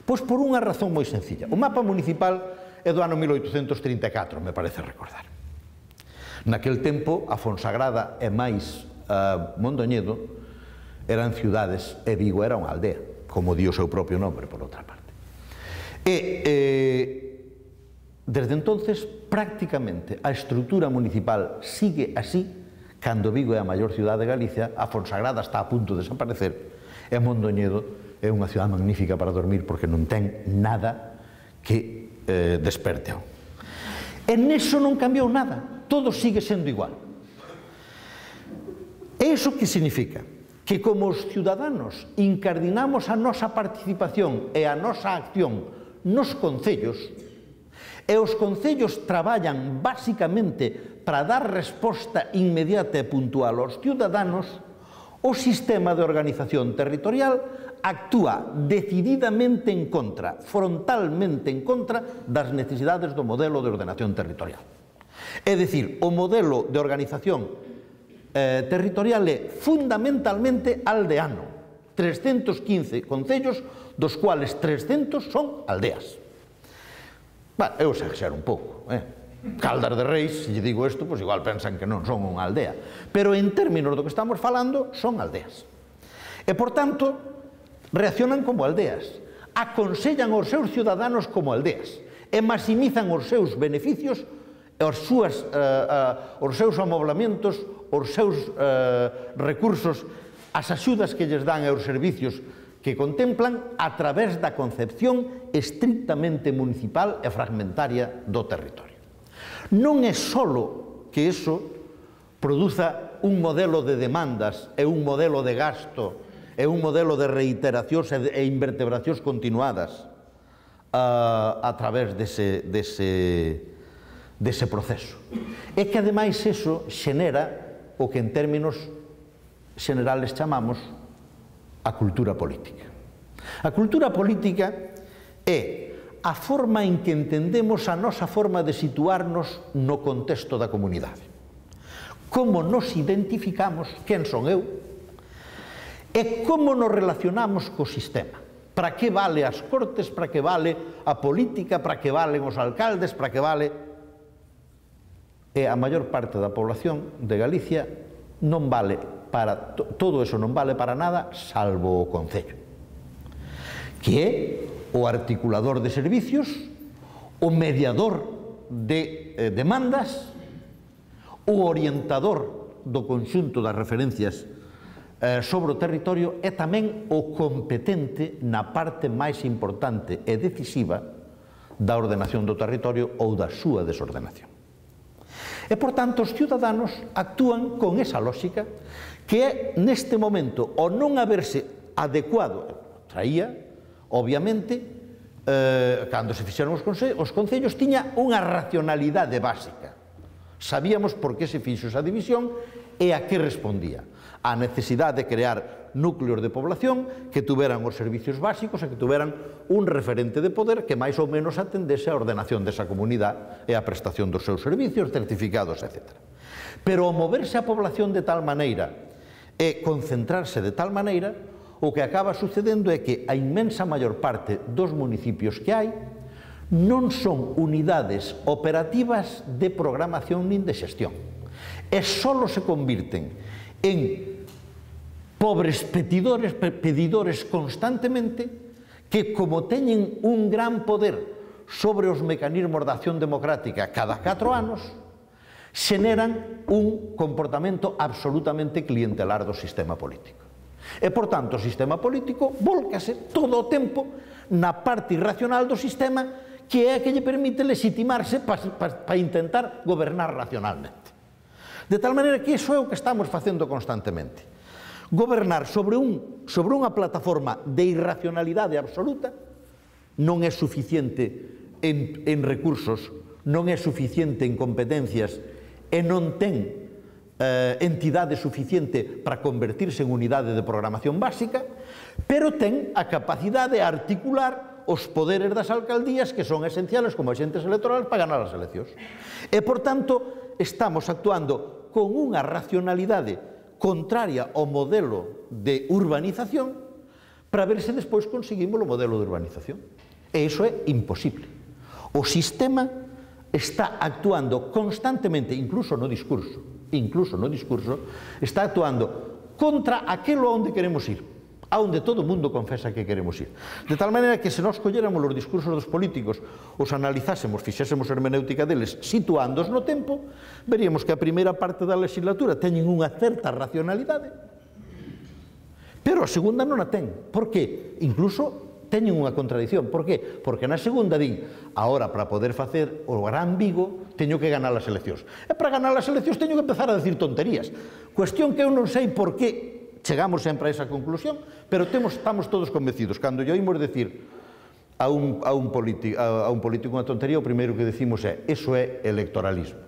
Pois por unha razón moi sencilla. O mapa municipal é do ano mil oitocentos trinta e catro, me parece recordar. Naquel tempo, a Fonsagrada e máis uh, Mondoñedo eran ciudades e Vigo era unha aldea, como di o seu propio nombre, por outra parte. E, eh, desde entonces, prácticamente, a estrutura municipal sigue así, cando Vigo é a maior cidade de Galicia, a Fonsagrada está a punto de desaparecer, e Mondoñedo é unha cidade magnífica para dormir, porque non ten nada que eh, desperte. E neso non cambiou nada, todo sigue sendo igual. E iso que significa? Que como os ciudadanos incardinamos a nosa participación e a nosa acción nos concellos, e os concellos traballan basicamente para dar resposta inmediata e puntual aos ciudadanos, o sistema de organización territorial actúa decididamente en contra, frontalmente en contra das necesidades do modelo de ordenación territorial. É dicir, o modelo de organización Eh, territorial é fundamentalmente aldeano. trescentos quince concellos, dos cuales trescentos son aldeas. Bueno, eu exagero un pouco, eh? Caldas de Reis, se lle digo isto, pois igual pensan que non son unha aldea. Pero en términos do que estamos falando, son aldeas. E, por tanto, reaccionan como aldeas. Aconsellan aos seus ciudadanos como aldeas. E maximizan os seus beneficios, os, súas, uh, uh, os seus amoblamentos, os seus eh, recursos, as axudas que lles dan e os servicios que contemplan a través da concepción estrictamente municipal e fragmentaria do territorio. Non é só que iso produza un modelo de demandas e un modelo de gasto e un modelo de reiteracións e invertebracións continuadas a, a través dese, dese, dese proceso. É que, ademais, iso xenera o que en términos xenerales chamamos a cultura política. A cultura política é a forma en que entendemos a nosa forma de situarnos no contexto da comunidade. Como nos identificamos, quen son eu, e como nos relacionamos co sistema. Para que vale as cortes, para que vale a política, para que valen os alcaldes, para que vale... E a maior parte da población de Galicia non vale para, todo eso non vale para nada, salvo o Concello, que é o articulador de servicios, o mediador de eh, demandas, o orientador do conxunto das referencias eh, sobre o territorio e tamén o competente na parte máis importante e decisiva da ordenación do territorio ou da súa desordenación. E, por tanto, os ciudadanos actúan con esa lógica que é, neste momento, o non haberse adecuado, traía, obviamente, eh, cando se fixeron os, conce os concellos, tiña unha racionalidade básica. Sabíamos por que se fixo esa división e a que respondía. A necesidade de crear núcleos de población que tuveran os servicios básicos e que tuveran un referente de poder que máis ou menos atendese a ordenación desa comunidade e a prestación dos seus servicios, certificados, etcétera. Pero ao moverse a población de tal maneira e concentrarse de tal maneira, o que acaba sucedendo é que a inmensa maior parte dos municipios que hai non son unidades operativas de programación nin de xestión. E só se convirten en pobres pedidores, pedidores constantemente que, como teñen un gran poder sobre os mecanismos de acción democrática cada catro anos, xeneran un comportamento absolutamente clientelar do sistema político. E, por tanto, o sistema político vólcase todo o tempo na parte irracional do sistema, que é a que lle permite legitimarse para intentar gobernar racionalmente. De tal maneira que iso é o que estamos facendo constantemente. Gobernar sobre, un, sobre unha plataforma de irracionalidade absoluta non é suficiente en, en recursos, non é suficiente en competencias e non ten eh, entidade suficiente para convertirse en unidade de programación básica, pero ten a capacidade de articular os poderes das alcaldías que son esenciales como agentes electorales para ganar as eleccións. E, por tanto, estamos actuando con unha racionalidade contraria ao modelo de urbanización para ver se despois conseguimos o modelo de urbanización. E iso é imposible. O sistema está actuando constantemente, incluso no discurso, incluso no discurso, está actuando contra aquilo onde queremos ir, aonde todo o mundo confesa que queremos ir. De tal maneira que se nós colléramos os discursos dos políticos, os analizásemos, fixésemos hermenéutica deles, situándos no tempo, veríamos que a primeira parte da legislatura teñen unha certa racionalidade, pero a segunda non a ten. Por qué? Incluso teñen unha contradición. Por qué? Porque na segunda din, ahora para poder facer o gran Vigo teño que ganar as eleccións. E para ganar as eleccións teño que empezar a decir tonterías. Cuestión que eu non sei por que chegamos sempre a esa conclusión, pero temos, estamos todos convencidos. Cando lle oímos decir a un, a, un político, a, a un político unha tontería, o primeiro que decimos é, eso é electoralismo.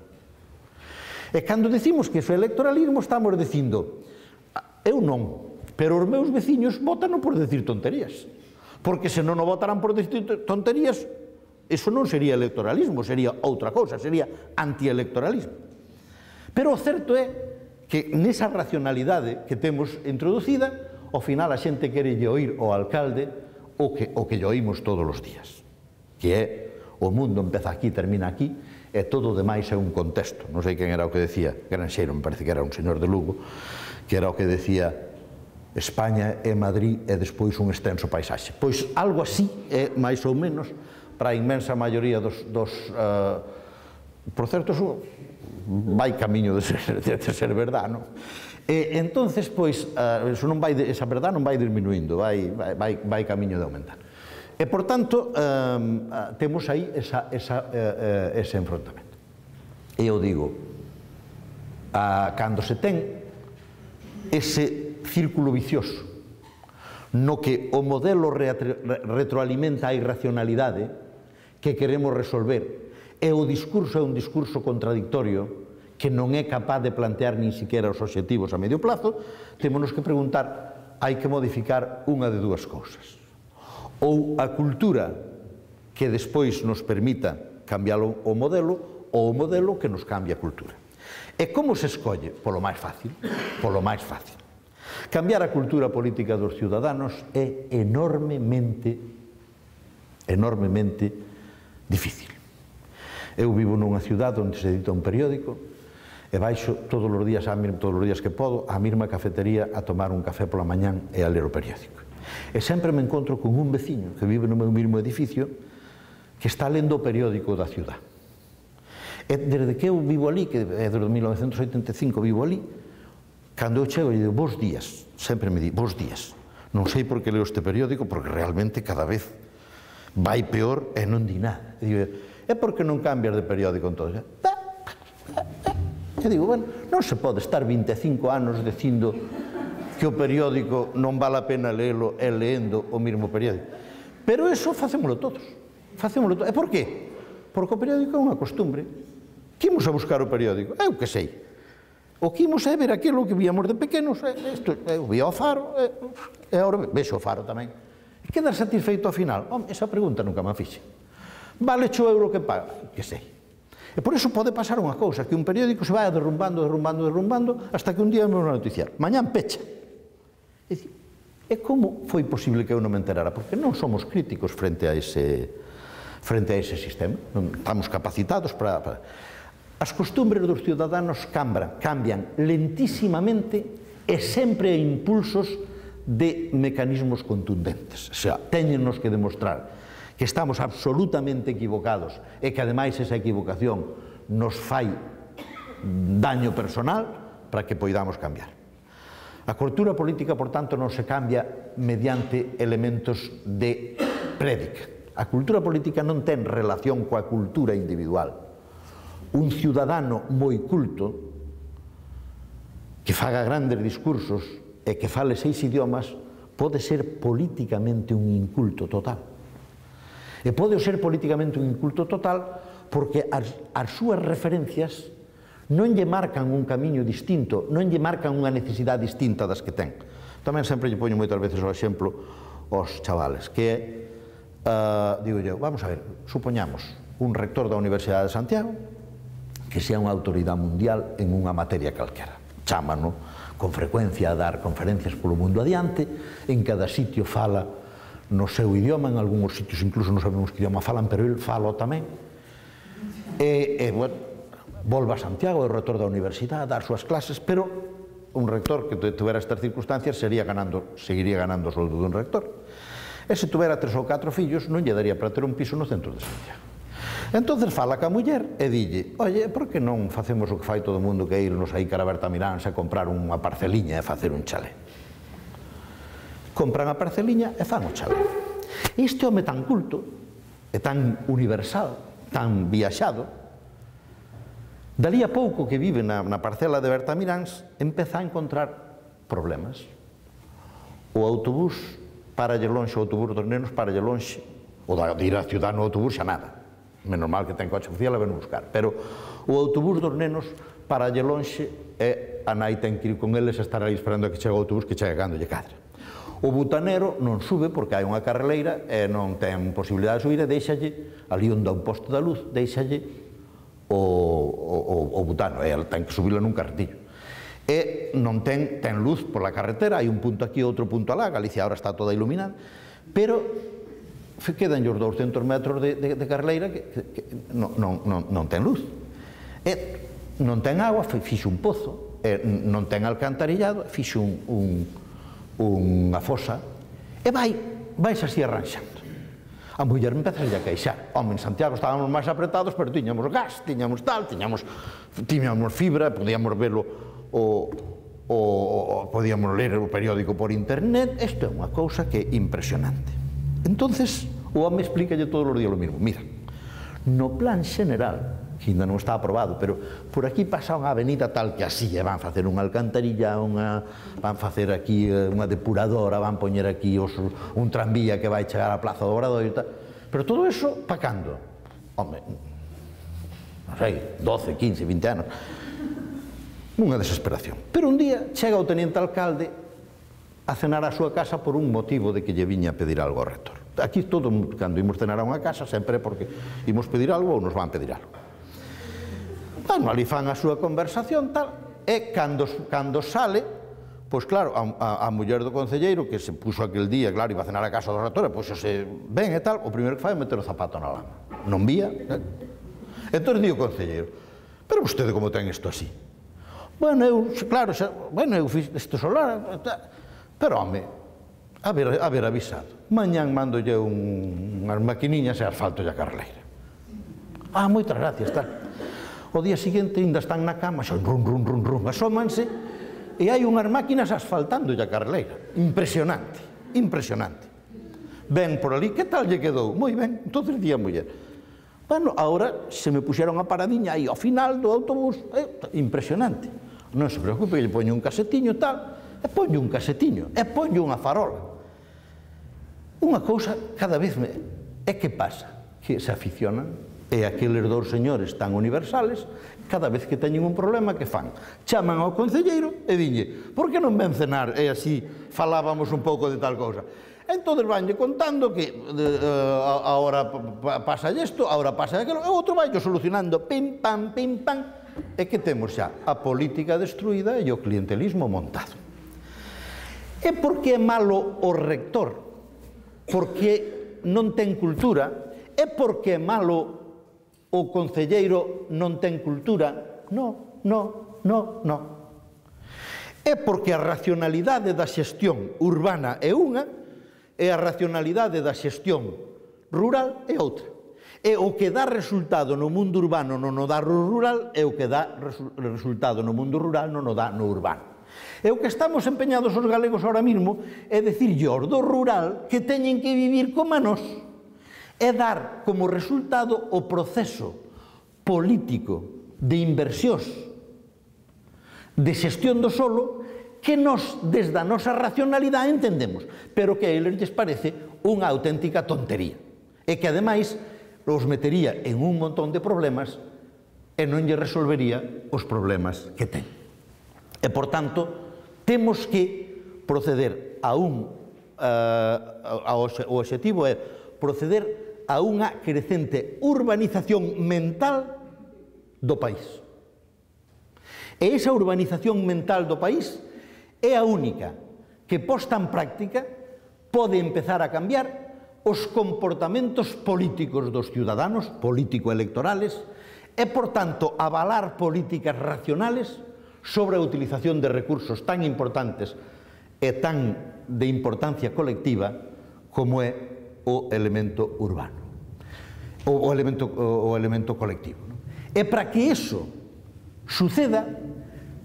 E cando decimos que eso é electoralismo, estamos dicindo, eu non, pero os meus veciños votan por decir tonterías. Porque se non o votaran por decir tonterías, eso non sería electoralismo, sería outra cousa, sería antielectoralismo. Pero o certo é que nesa racionalidade que temos introducida, ao final a xente quere lle oír ao alcalde o que, o que lle oímos todos os días, que é o mundo empeza aquí, termina aquí, e todo o demais é un contexto. Non sei quen era o que decía, Granxeiro, me parece que era un señor de Lugo, que era o que decía España é Madrid e despois un extenso paisaxe. Pois algo así é, máis ou menos, para a inmensa maioría dos... dos uh, por certo, eso vai camiño de ser, de ser verdad, non? E entonces, pois, uh, eso non vai, esa verdad non vai disminuindo, vai, vai, vai camiño de aumentar. E, por tanto, um, uh, temos aí esa, esa, uh, uh, ese enfrontamento. E eu digo, uh, cando se ten ese círculo vicioso no que o modelo retroalimenta a irracionalidade que queremos resolver e o discurso é un discurso contradictorio que non é capaz de plantear nin siquiera os obxectivos a medio plazo, temos que preguntar, hai que modificar unha de dúas cousas. Ou a cultura que despois nos permita cambiar o modelo, ou o modelo que nos cambia a cultura. E como se escolle? Polo máis fácil, polo máis fácil. Cambiar a cultura política dos ciudadanos é enormemente, enormemente difícil. Eu vivo nunha ciudad onde se edita un periódico e baixo todos os días, todos os días que podo, á mesma cafetería a tomar un café pola mañán e a ler o periódico. E sempre me encontro con un veciño que vive no meu mesmo edificio que está lendo o periódico da ciudad. E desde que eu vivo ali, que é desde mil novecentos e oitenta e cinco vivo ali, cando eu chego e digo, bons días, sempre me di, bons días. Non sei por que leo este periódico, porque realmente cada vez vai peor e non di nada. E digo, é porque non cambias de periódico en todo. E digo, bueno, non se pode estar vinte e cinco anos dicindo que o periódico non vale a pena leelo e leendo o mesmo periódico. Pero eso facémolo todos. Facémolo todos. E por qué? Porque o periódico é unha costumbre. Que imos a buscar o periódico? Eu que sei. O que imos é ver aquilo que víamos de pequenos. Isto, eu vía o Faro, e agora vexo o Faro tamén. E quedar satisfeito ao final? Home, esa pregunta nunca me fixe. Vale o euro que paga? Que sei. E por iso pode pasar unha cousa, que un periódico se vai derrumbando, derrumbando, derrumbando, hasta que un día me van a noticiar. Mañán pecha. E, dicir, e como foi posible que eu non me enterara? Porque non somos críticos frente a ese, frente a ese sistema. Non estamos capacitados para... para... As costumbres dos ciudadanos cambian, cambian lentísimamente e sempre a impulsos de mecanismos contundentes. O sea, teñenos que demostrar que estamos absolutamente equivocados e que ademais esa equivocación nos fai daño personal para que poidamos cambiar. A cultura política, por tanto, non se cambia mediante elementos de prédica. A cultura política non ten relación coa cultura individual. Un ciudadano moi culto que faga grandes discursos e que fale seis idiomas pode ser políticamente un inculto total. E pode ser políticamente un inculto total porque as, as súas referencias non lle marcan un camiño distinto, non lle marcan unha necesidade distinta das que ten. Tamén sempre lle poño moitas veces o exemplo aos chavales, que é, uh, digo eu, vamos a ver, supoñamos un rector da Universidade de Santiago que sea unha autoridade mundial en unha materia calquera. Chámano con frecuencia a dar conferencias polo mundo adiante, en cada sitio fala no seu idioma, en algúns sitios incluso non sabemos que idioma falan, pero el fala tamén. E, e bueno, volva a Santiago, é o rector da universidade, a dar súas clases, pero un rector que tuvera estas circunstancias sería ganando, seguiría ganando o soldo dun rector. E se tuvera tres ou catro fillos, non lle daría para ter un piso no centro de Santiago. Entonces fala ca muller e dille, oye, por que non facemos o que fai todo o mundo, que é irnos aí cara a Bertamiráns a comprar unha parceliña e facer un chalé? Compran a parceliña e fan o chalé. Este home tan culto, e tan universal, tan viaxado, dalí a pouco que vive na, na parcela de Bertamiráns, empeza a encontrar problemas. O autobús paralle lonxe, o autobús dos nenos paralle lonxe, o de ir a ciudad no autobús xa nada. Menos mal que ten coche oficial a ven buscar. Pero o autobús dos nenos paralle lonxe e a nai ten que ir con eles a estar aí esperando a que chegue o autobús que chegue cando lle cadra. O butanero non sube porque hai unha carreleira e non ten posibilidade de subir e deixalle, ali onde un posto da luz, deixalle o, o, o butano, e el ten que subirlo nun carretillo. E non ten, ten luz pola carretera, hai un punto aquí e outro punto alá, Galicia agora está toda iluminada, pero quedan os douscentos metros de, de, de carreleira que, que, que non, non, non, non ten luz. E non ten agua, fixe un pozo, e non ten alcantarillado, fixe un, un, unha fosa, e vai, vais así arranxando. A muller empeza a queixar. Home, en Santiago estábamos máis apretados, pero tiñamos gas, tiñamos tal, tiñamos, tiñamos fibra, podíamos verlo, o, o, o podíamos ler o periódico por internet. Isto é unha cousa que é impresionante. Entonces, o home explícalle todos os días o mesmo. Mira, no plan xeneral, que ainda non está aprobado, pero por aquí pasa unha avenida tal que así, e van facer unha alcantarilla, unha, van facer aquí unha depuradora, van poñer aquí os, un tranvía que vai chegar á Plaza do Obradoiro e tal. Pero todo eso, pa cando? Home, non sei, doce, quince, vinte anos. Unha desesperación. Pero un día chega o teniente alcalde a cenar á súa casa por un motivo de que lle viña a pedir algo ao rector. Aquí todo, cando imos cenar a unha casa, sempre porque imos pedir algo ou nos van pedir algo. Bueno, ali fan a súa conversación, tal, e cando, cando sale, pois claro, a, a, a muller do concelleiro, que se puxo aquel día, claro, iba a cenar a casa do rector, pois se ven e tal, o primeiro que fai é meter o zapato na lama. Non vía, eh? Entón di o concelleiro, pero vostede como ten isto así? Bueno, eu, claro, xa, bueno, eu fiz isto solar, pero, home, haber, haber avisado. Mañán mandolle un, unhas maquiniñas e asfalto e a carreleira. Ah, moitas gracias, tal. O día seguinte ainda están na cama, xa run, run, run, run, asómanse, e hai unhas máquinas asfaltando a carreleira. Impresionante, impresionante. Ven por ali, que tal lle quedou? Moi ben, entonces di a muller. Bueno, agora se me puxeron a paradiña aí ao final do autobús, eh, impresionante. Non se preocupe, que lle poño un casetiño tal, e poño un casetiño, e poño unha farola. Unha cousa cada vez me... E que pasa? Que se aficionan, e aqueles dous señores tan universales, cada vez que teñen un problema, que fan? Chaman ao concelleiro e dinlle, por que non ven cenar? E así falábamos un pouco de tal cousa. Entón vanlle contando que agora pasa isto, agora pasa aquilo, e outro vai solucionando, pim, pam, pim, pam, e que temos xa a política destruída e o clientelismo montado. E por que é malo o rector? Porque non ten cultura? É porque é malo o concelleiro non ten cultura? No, no, no, no. É porque a racionalidade da xestión urbana é unha e a racionalidade da xestión rural é outra. E o que dá resultado no mundo urbano non o dá no rural e o que dá resultado no mundo rural non o dá no urbano. E o que estamos empeñados os galegos ahora mismo é dicirlle aos do rural que teñen que vivir como a nós, é dar como resultado o proceso político de inversións de xestión do solo que nós, desde a nosa racionalidade, entendemos, pero que a eles lles parece unha auténtica tontería, e que, ademais, os metería en un montón de problemas e non lle resolvería os problemas que ten. E, por tanto, temos que proceder a un... O obxectivo é proceder a unha crecente urbanización mental do país. E esa urbanización mental do país é a única que, posta en práctica, pode empezar a cambiar os comportamentos políticos dos ciudadanos, político-electorales, e, por tanto, avalar políticas racionales sobre a utilización de recursos tan importantes e tan de importancia colectiva como é o elemento urbano, o, o, elemento, o, o elemento colectivo. Non? E para que iso suceda,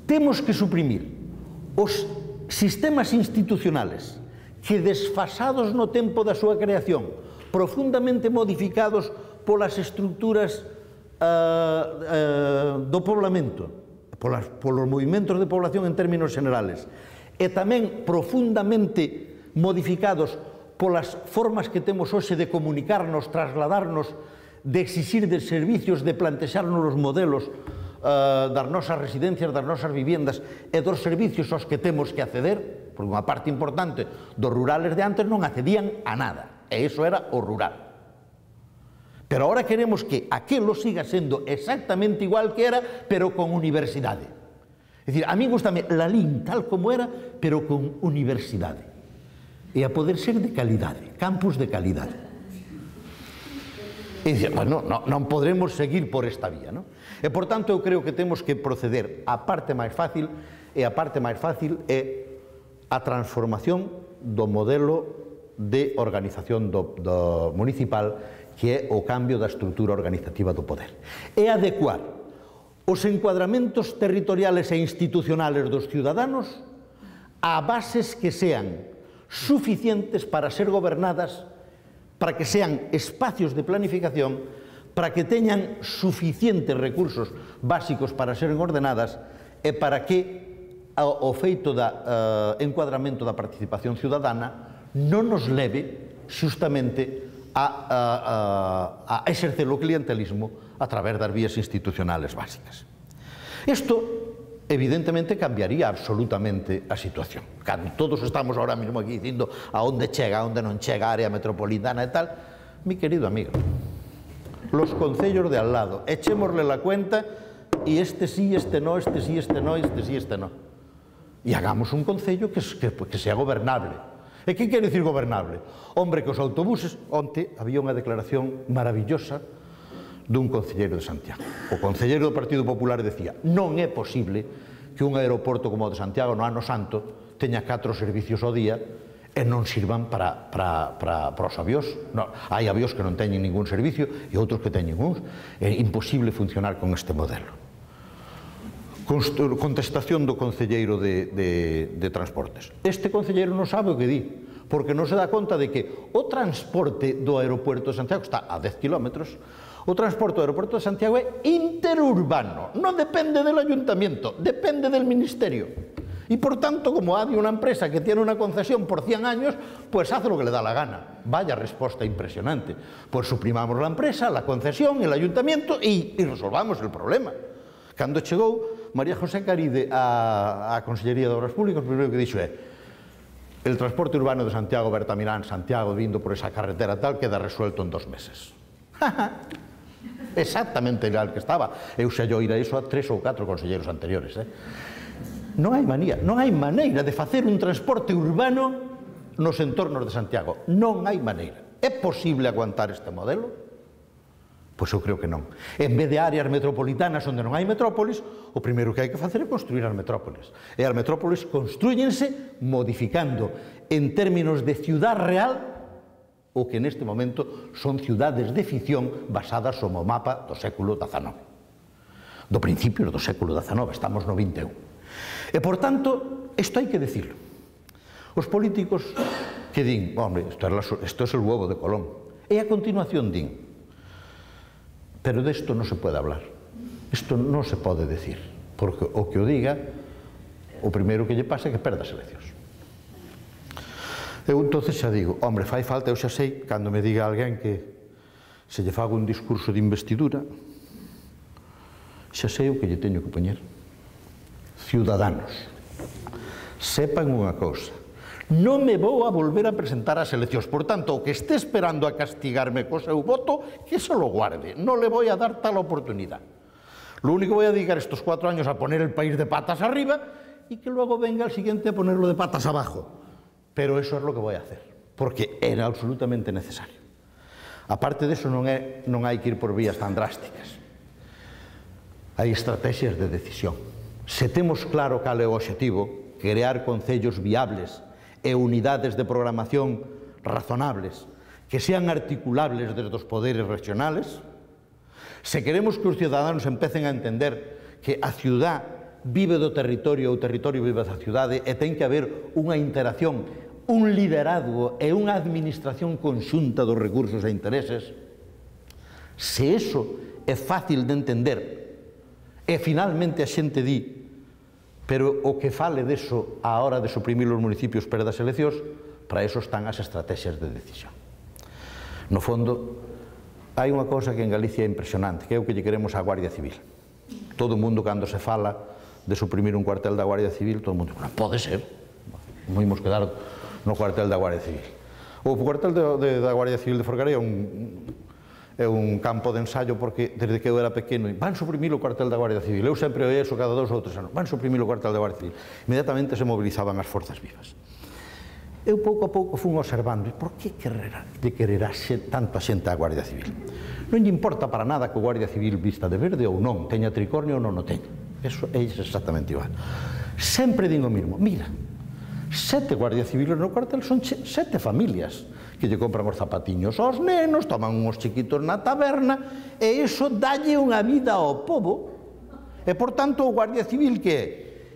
temos que suprimir os sistemas institucionales que, desfasados no tempo da súa creación, profundamente modificados polas estruturas uh, uh, do poblamento, polas, polos movimentos de población en términos generales, e tamén profundamente modificados polas formas que temos hoxe de comunicarnos, trasladarnos, de exixir de servicios, de plantexarnos os modelos uh, das nosas residencias, das nosas viviendas e dos servicios aos que temos que acceder, porque unha parte importante dos rurales de antes non accedían a nada, e iso era o rural. Pero ahora queremos que aquilo siga sendo exactamente igual que era, pero con universidade. É dicir, a mí gustame Lalín tal como era, pero con universidade. E a poder ser de calidade, campus de calidade. E dicir, bueno, non, non podremos seguir por esta vía, non? E, por tanto, eu creo que temos que proceder a parte máis fácil, e a parte máis fácil é a transformación do modelo de organización do, do municipal, que é o cambio da estrutura organizativa do poder. É adecuar os encuadramentos territoriales e institucionales dos ciudadanos a bases que sean suficientes para ser gobernadas, para que sean espacios de planificación, para que teñan suficientes recursos básicos para ser ordenadas e para que o feito da encuadramento da participación ciudadana non nos leve justamente a exercer o clientelismo a través das vías institucionales básicas. Isto evidentemente cambiaría absolutamente a situación. Cando todos estamos ahora mismo aquí dicindo a onde chega, a onde non chega a área metropolitana e tal, mi querido amigo, los concellos de al lado, echémosle la cuenta y este sí, este no, este sí, este no, este sí, este no. Y hagamos un concello que, que, que sea gobernable. E que quere dicir gobernable? Hombre, que os autobuses, onte había unha declaración maravillosa dun concelleiro de Santiago. O concelleiro do Partido Popular decía: non é posible que un aeroporto como o de Santiago no ano santo teña catro servicios ao día e non sirvan para, para, para, para os avións. No, hai avións que non teñen ningún servicio e outros que teñen uns. É imposible funcionar con este modelo. Contestación do concelleiro de, de, de Transportes. Este concelleiro non sabe o que di, porque non se dá conta de que o transporte do aeropuerto de Santiago está a dez kilómetros. O transporte do aeropuerto de Santiago é interurbano, non depende del ayuntamiento, depende del ministerio. Y por tanto, como hay una empresa que tiene una concesión por cien años, pues hace lo que le da la gana. Vaya respuesta impresionante. Pues suprimamos la empresa, la concesión, el ayuntamiento y, y resolvamos el problema. Cando chegou María José Caride á Consellería de Obras Públicas, o primeiro que dixo é: el transporte urbano de Santiago, Bertamirán, Santiago, vindo por esa carretera tal, queda resuelto en dos meses. Exactamente igual que estaba. Eu xa yo ir a iso a tres ou catro conselleiros anteriores. Eh? Non hai manía, non hai maneira de facer un transporte urbano nos entornos de Santiago. Non hai maneira. É posible aguantar este modelo? Pois eu creo que non. En vez de áreas metropolitanas onde non hai metrópolis, o primeiro que hai que facer é construir as metrópolis. E as metrópolis construyense modificando en términos de ciudad real o que neste momento son ciudades de ficción basadas no mapa do século dezanove. Do principio do século dezanove, estamos no vinte e un. E, por tanto, isto hai que decirlo. Os políticos que din, hombre, isto é o huevo de Colón, e a continuación din, pero desto non se pode hablar, isto non se pode decir, porque o que o diga, o primeiro que lle pasa é que perda as eleccións. Eu entonces xa digo, hombre, fai falta, eu xa sei, cando me diga alguén que se lle fago un discurso de investidura, xa sei o que lle teño que poñer. Ciudadanos, sepan unha cousa, non me vou a volver a presentar ás eleccións, por tanto, o que este esperando a castigarme co seu voto, que se lo guarde, non le voy a dar tal oportunidade. Lo único voy a dedicar estos cuatro años a poner el país de patas arriba y que luego venga el siguiente a ponerlo de patas abajo. Pero eso es lo que voy a hacer, porque era absolutamente necesario. Aparte de eso, non, é, non hai que ir por vías tan drásticas. Hai estrategias de decisión. Se temos claro cal é o obxectivo, crear concellos viables e unidades de programación razonables, que sean articulables desde os poderes regionales, se queremos que os ciudadanos empecen a entender que a ciudad vive do territorio, o territorio vive da cidade, e ten que haber unha interacción, un liderazgo e unha administración conxunta dos recursos e intereses, se eso é fácil de entender e finalmente a xente di, pero o que fale deso a hora de suprimir os municipios per das eleccións, para eso están as estrategias de decisión. No fondo, hai unha cousa que en Galicia é impresionante, que é o que lle queremos á Guardia Civil. Todo o mundo, cando se fala de suprimir un cuartel da Guardia Civil, todo o mundo, non pode ser, non imos quedar no cuartel da Guardia Civil. O cuartel de, de, da Guardia Civil de Forcarei é un, é un campo de ensayo, porque desde que eu era pequeno, van suprimir o cuartel da Guardia Civil, eu sempre oí eso cada dos ou tres anos, van suprimir o cuartel da Guardia Civil. Inmediatamente se movilizaban as forzas vivas. Eu pouco a pouco fun observando, e por que quererá, de quererá tanto a xente a Guardia Civil? Non lle importa para nada que o Guardia Civil vista de verde ou non, teña tricornio ou non o teña. Eso é exactamente igual. Sempre digo o mismo, mira, sete Guardia Civiles no cuartel son sete familias que lle compran os zapatiños aos nenos, toman uns chiquitos na taberna, e iso dalle unha vida ao pobo. E, por tanto, o Guardia Civil que é?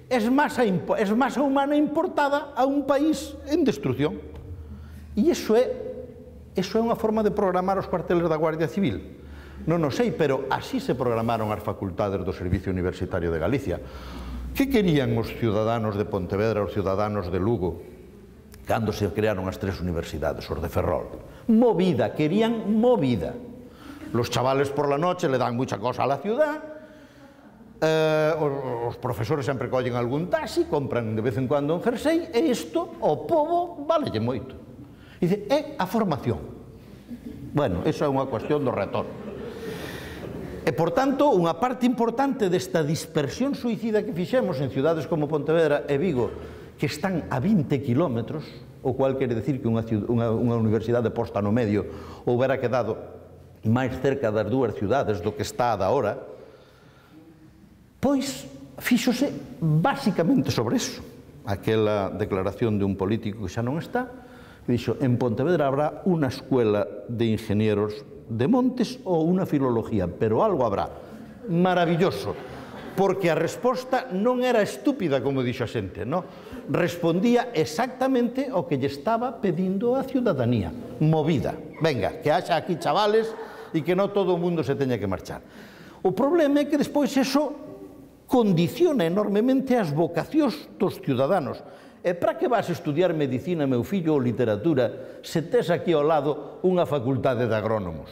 Es masa, es masa humana importada a un país en destrucción. E iso é, iso é unha forma de programar os cuarteles da Guardia Civil. Non o sei, pero así se programaron as facultades do Servicio Universitario de Galicia. Que querían os ciudadanos de Pontevedra, os ciudadanos de Lugo, cando se crearon as tres universidades, os de Ferrol? Movida, querían movida. Los chavales por la noche le dan mucha cosa a la ciudad, Eh, os profesores sempre collen algún taxi, compran de vez en cuando un jersey, e isto, ao pobo, valelle moito. Dice, é a formación. Bueno, esa é unha cuestión do retorno. E, por tanto, unha parte importante desta dispersión suicida que fixemos en ciudades como Pontevedra e Vigo, que están a vinte kilómetros, o cual quere decir que unha, unha, unha universidade posta no medio houbera quedado máis cerca das dúas ciudades do que está a da hora, pois fíxose basicamente sobre eso. Aquela declaración de un político que xa non está, que dixo, en Pontevedra habrá unha escuela de ingenieros de montes ou unha filología, pero algo habrá. Maravilloso, porque a resposta non era estúpida, como dixo a xente, non? Respondía exactamente o que lle estaba pedindo a ciudadanía. Movida. Venga, que haxa aquí chavales e que non todo o mundo se teña que marchar. O problema é que despois eso condiciona enormemente as vocacións dos ciudadanos. E para que vas estudiar medicina, meu fillo, ou literatura, se tes aquí ao lado unha facultade de agrónomos?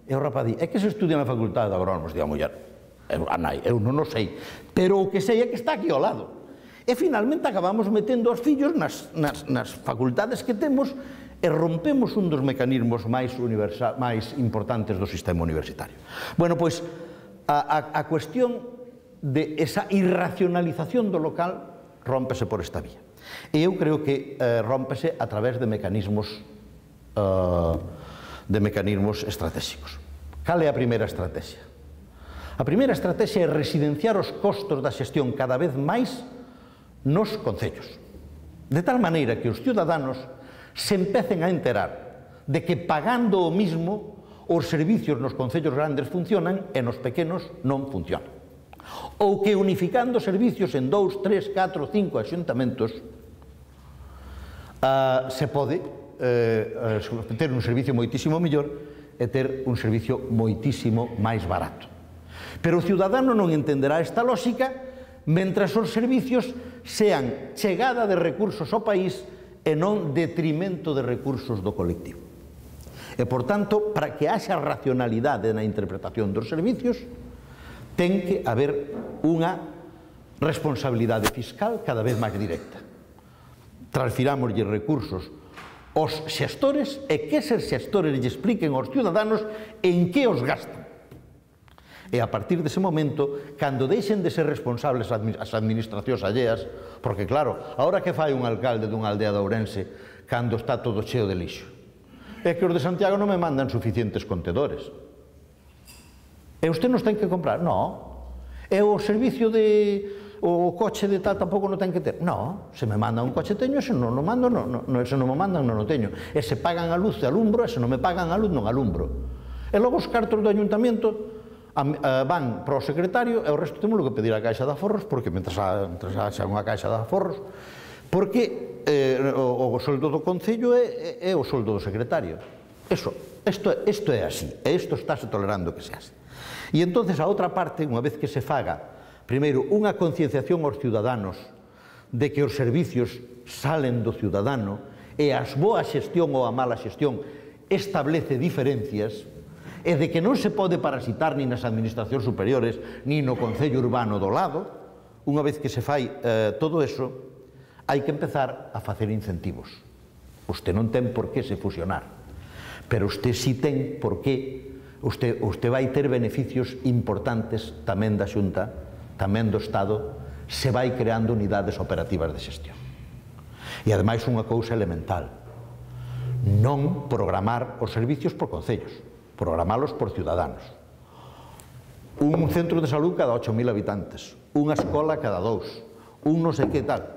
E o rapaz di, é que se estudia na facultade de agrónomos? Di a muller, a nai, eu non o sei, pero o que sei é que está aquí ao lado. E finalmente acabamos metendo os fillos nas, nas, nas facultades que temos e rompemos un dos mecanismos máis, máis importantes do sistema universitario. Bueno, pois, A, a, a cuestión de esa irracionalización do local rómpese por esta vía. E eu creo que eh, rómpese a través de mecanismos eh, de mecanismos estratégicos. Cal é a primeira estrategia? A primeira estrategia é residenciar os costos da xestión cada vez máis nos concellos. De tal maneira que os ciudadanos se empecen a enterar de que pagando o mismo os servicios nos concellos grandes funcionan e nos pequenos non funcionan. ou que unificando servicios en dous, tres, catro, cinco axuntamentos uh, se pode uh, uh, ter un servicio moitísimo mellor e ter un servicio moitísimo máis barato. Pero o ciudadano non entenderá esta lógica mentras os servicios sean chegada de recursos ao país e non detrimento de recursos do colectivo. E, por tanto, para que haxa racionalidade na interpretación dos servicios, ten que haber unha responsabilidade fiscal cada vez máis directa. Transfirámoslle recursos aos xestores e que eses xestores lle expliquen aos ciudadanos en que os gastan. E a partir dese momento, cando deixen de ser responsables as administracións alleas, porque claro, ahora que fai un alcalde dunha aldea de Ourense cando está todo cheo de lixo? É que os de Santiago non me mandan suficientes contedores. E usted nos ten que comprar? No. E o servicio de... o coche de tal tampouco non ten que ter? No. Se me mandan un coche teño, se non o mando, non, non, se non me mandan non o teño. E se pagan a luz, alumbro, e se non me pagan a luz, non alumbro. E logo os cartos do ayuntamiento van para o secretario e o resto temos que pedir a Caixa de Aforros, porque mentre haxa unha Caixa de Aforros, porque eh, o, o soldo do Concello é, é o soldo do secretario. Eso, isto, isto é así, e isto estáse tolerando que se así. E entonces a outra parte, unha vez que se faga, primeiro, unha concienciación aos ciudadanos de que os servicios salen do ciudadano e a boa xestión ou a mala xestión establece diferencias, e de que non se pode parasitar nin nas administracións superiores, nin no Concello Urbano do lado, unha vez que se fai eh, todo eso, hai que empezar a facer incentivos. Usted non ten por que se fusionar, pero usted sí ten por que, usted, usted vai ter beneficios importantes tamén da Xunta, tamén do Estado, se vai creando unidades operativas de xestión. E ademais unha cousa elemental, non programar os servicios por concellos, programalos por ciudadanos. Un centro de salud cada ocho mil habitantes, unha escola cada dous, un non sei que tal.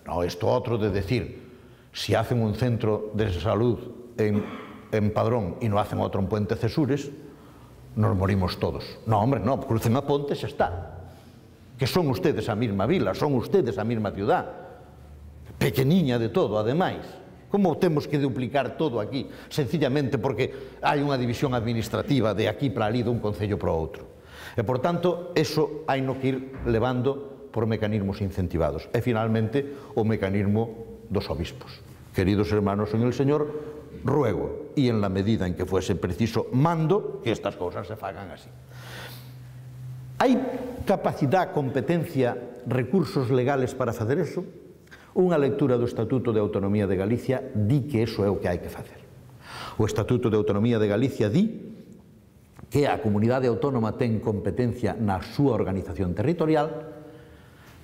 No, isto outro de decir, si hacen un centro de salud en, en Padrón e non hacen outro en Puente Cesures, nos morimos todos. No, hombre, no, crucen a ponte e xa está. Que son ustedes a mesma vila, son ustedes a mesma ciudad, pequeniña de todo, ademais. Como temos que duplicar todo aquí, sencillamente porque hai unha división administrativa de aquí para ali, dun concello para outro. E, por tanto, eso hai no que ir levando por mecanismos incentivados. E, finalmente, o mecanismo dos obispos. Queridos hermanos en el Señor, ruego, e en la medida en que fuese preciso, mando que estas cosas se fagan así. Hai capacidade, competencia, recursos legales para facer eso? Unha lectura do Estatuto de Autonomía de Galicia di que eso é o que hai que facer. O Estatuto de Autonomía de Galicia di que a comunidade autónoma ten competencia na súa organización territorial,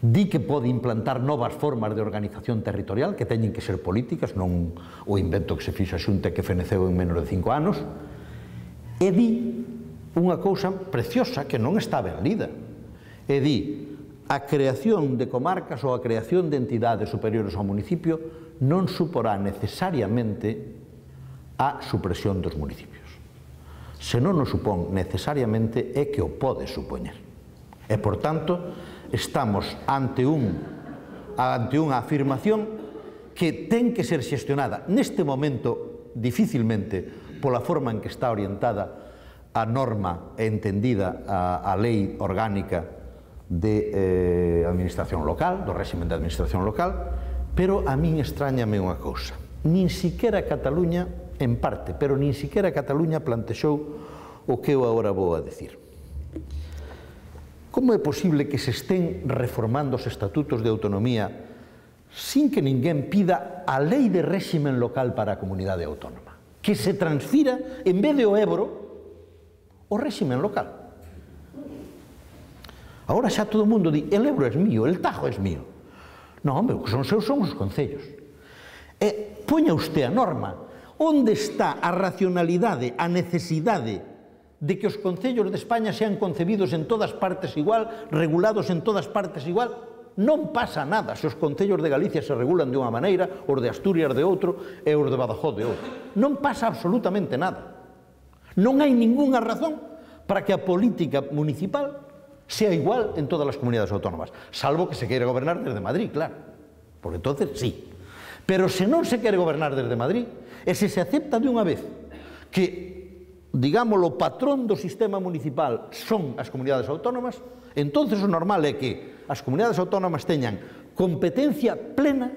di que pode implantar novas formas de organización territorial que teñen que ser políticas, non o invento que se fixo a Xunta que feneceu en menos de cinco anos, e di unha cousa preciosa que non está ben lida, e di a creación de comarcas ou a creación de entidades superiores ao municipio non suporá necesariamente a supresión dos municipios. Se non o supón necesariamente é que o pode supoñer. E, por tanto, estamos ante, un, ante unha afirmación que ten que ser xestionada neste momento dificilmente pola forma en que está orientada a norma e entendida a, a lei orgánica de eh, administración local, do réximen de administración local, pero a min extrañame unha cousa. Nin siquera Cataluña, en parte, pero nin siquera Cataluña plantexou o que eu agora vou a decir. Como é posible que se estén reformando os estatutos de autonomía sin que ninguén pida a lei de réximen local para a comunidade autónoma? Que se transfira, en vez de o Ebro, o réximen local. Agora xa todo o mundo di, el Ebro é mío, el Tajo é mío. Non, hombre, son seus son os concellos. E poña usted a norma. Onde está a racionalidade, a necesidade de que os concellos de España sean concebidos en todas partes igual, regulados en todas partes igual? Non pasa nada se os concellos de Galicia se regulan de unha maneira, os de Asturias de outro e os de Badajoz de outro. Non pasa absolutamente nada. Non hai ningunha razón para que a política municipal sea igual en todas las comunidades autónomas, salvo que se queira gobernar desde Madrid, claro, porque entonces sí. Pero se non se quere gobernar desde Madrid, e se se acepta de unha vez que, digamos, o patrón do sistema municipal son as comunidades autónomas, entonces o normal é que as comunidades autónomas teñan competencia plena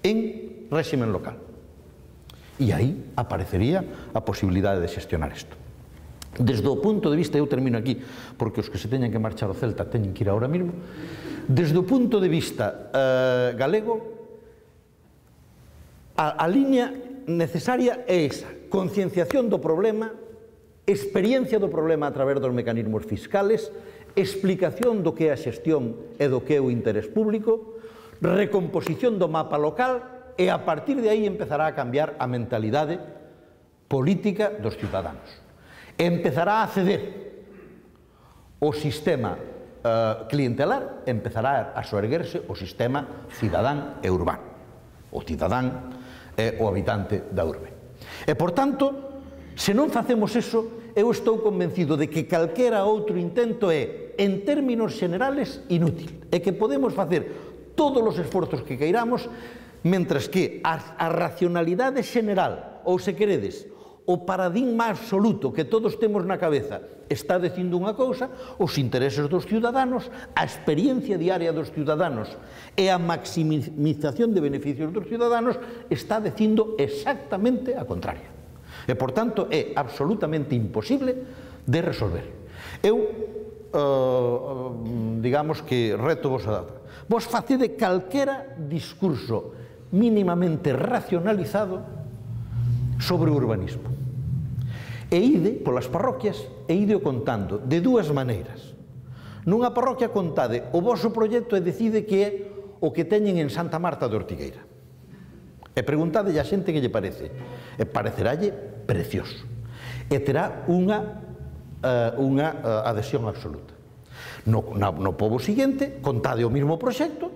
en réximen local. E aí aparecería a posibilidade de xestionar isto. Desde o punto de vista, eu termino aquí, porque os que se teñan que marchar ao Celta teñen que ir ahora mismo, desde o punto de vista eh, galego, a, a línea necesaria é esa, concienciación do problema, experiencia do problema a través dos mecanismos fiscales, explicación do que é a xestión e do que é o interés público, recomposición do mapa local, e a partir de aí empezará a cambiar a mentalidade política dos ciudadanos. Empezará a ceder o sistema uh, clientelar, empezará a soerguerse o sistema cidadán e urbano. O cidadán é o habitante da urbe. E, por tanto, se non facemos eso, eu estou convencido de que calquera outro intento é, en términos generales, inútil. E que podemos facer todos os esforzos que queiramos, mentres que a, a racionalidade general, ou se queredes, o paradigma absoluto que todos temos na cabeza está dicindo unha cousa, os intereses dos ciudadanos, a experiencia diaria dos ciudadanos e a maximización de beneficios dos ciudadanos está dicindo exactamente a contraria. E, por tanto, é absolutamente imposible de resolver. Eu, uh, digamos que reto vos a dar. Vos facede calquera discurso mínimamente racionalizado sobre o urbanismo. E ide polas parroquias e ide o contando de dúas maneiras. Nunha parroquia contade o voso proxecto e decide que é o que teñen en Santa Marta de Ortigueira. E preguntade a xente que lle parece. E parecerálle precioso. E terá unha, uh, unha uh, adhesión absoluta. No, no, no pobo seguinte, contade o mismo proxecto,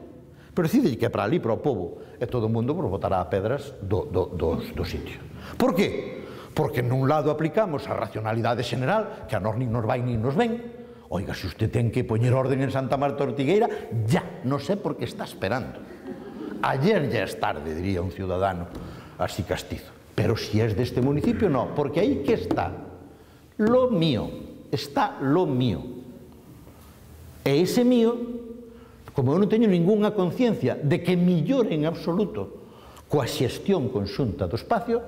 pero decide que é para ali, para o pobo, e todo o mundo botará pedras do, do, do, do sitio. Por que? Porque nun lado aplicamos a racionalidade general, que a nós nin nos vai nin nos ven. Oiga, se usted ten que poñer orden en Santa Marta Ortigueira, ya, non sei por que está esperando. Ayer ya es tarde, diría un ciudadano así castizo. Pero si es de este municipio, no, porque aí que está lo mío, está lo mío. E ese mío, como eu non teño ningunha conciencia de que millore en absoluto coa xestión conxunta do espacio,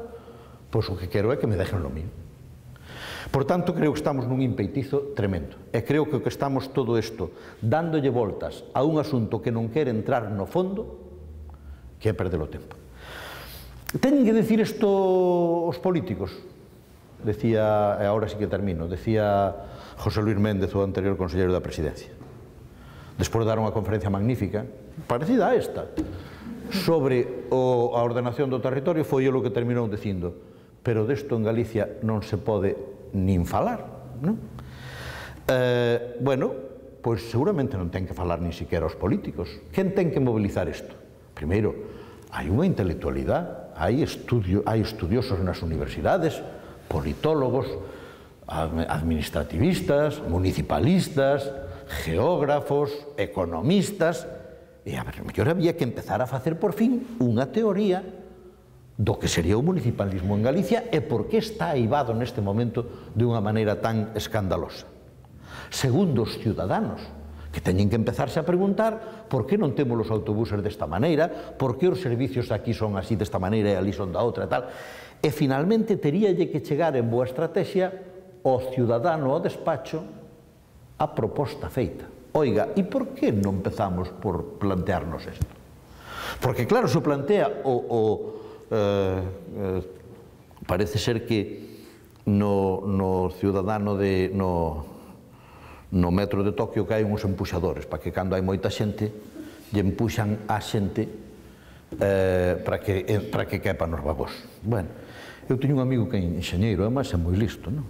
pois o que quero é que me dejen lo mío. Por tanto, creo que estamos nun impeitizo tremendo. E creo que o que estamos todo isto dándolle voltas a un asunto que non quere entrar no fondo, que é perder o tempo. Teñen que decir isto os políticos. Decía, e agora sí que termino, decía José Luis Méndez, o anterior conselleiro da Presidencia. Despois de dar unha conferencia magnífica, parecida a esta, sobre o, a ordenación do territorio, foi o que terminou dicindo, pero desto en Galicia non se pode nin falar, non? Eh, bueno, pois seguramente non ten que falar nin siquiera os políticos. Quen ten que mobilizar isto? Primeiro, hai unha intelectualidade, hai, estudio, hai estudiosos nas universidades, politólogos, administrativistas, municipalistas, geógrafos, economistas, e a ver, mellor había que empezar a facer por fin unha teoría do que sería o municipalismo en Galicia e por que está aivado neste momento de unha maneira tan escandalosa. Segundo, os ciudadanos, que teñen que empezarse a preguntar por que non temos os autobuses desta maneira, por que os servicios aquí son así desta maneira e ali son da outra e tal. E finalmente teríalle que chegar en boa estrategia ao ciudadano ao despacho a proposta feita. Oiga, e por que non empezamos por plantearnos isto? Porque claro, se plantea o, o eh, eh, parece ser que no, no ciudadano de no, no metro de Tokio que hai uns empuxadores para que cando hai moita xente lle empuxan a xente eh, para que, eh, para que quepa nos vagós. Bueno, eu teño un amigo que é enxeñeiro, además é moi listo, non?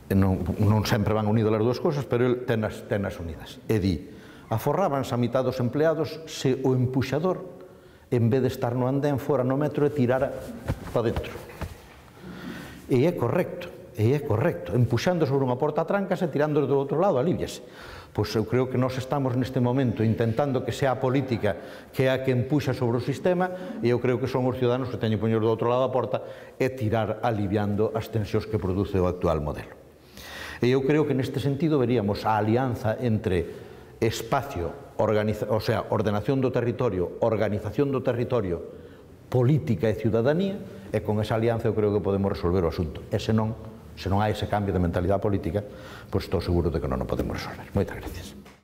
Non, non sempre van unidas as dúas cosas, pero el ten as, ten as unidas. E di, aforrábanse a mitad dos empleados se o empuxador, en vez de estar no andén, fora no metro e tirara para dentro. E é correcto. e é correcto, empuxando sobre unha porta trancas e tirando do outro lado, alíviase. Pois eu creo que nós estamos neste momento intentando que sea a política que é a que empuxa sobre o sistema, e eu creo que son os ciudadanos que teñen que poñer do outro lado da porta e tirar aliviando as tensións que produce o actual modelo. E eu creo que neste sentido veríamos a alianza entre espacio, o sea, ordenación do territorio, organización do territorio, política e ciudadanía, e con esa alianza eu creo que podemos resolver o asunto. E se non, se non hai ese cambio de mentalidade política, pois estou seguro de que non o podemos resolver. Moitas gracias.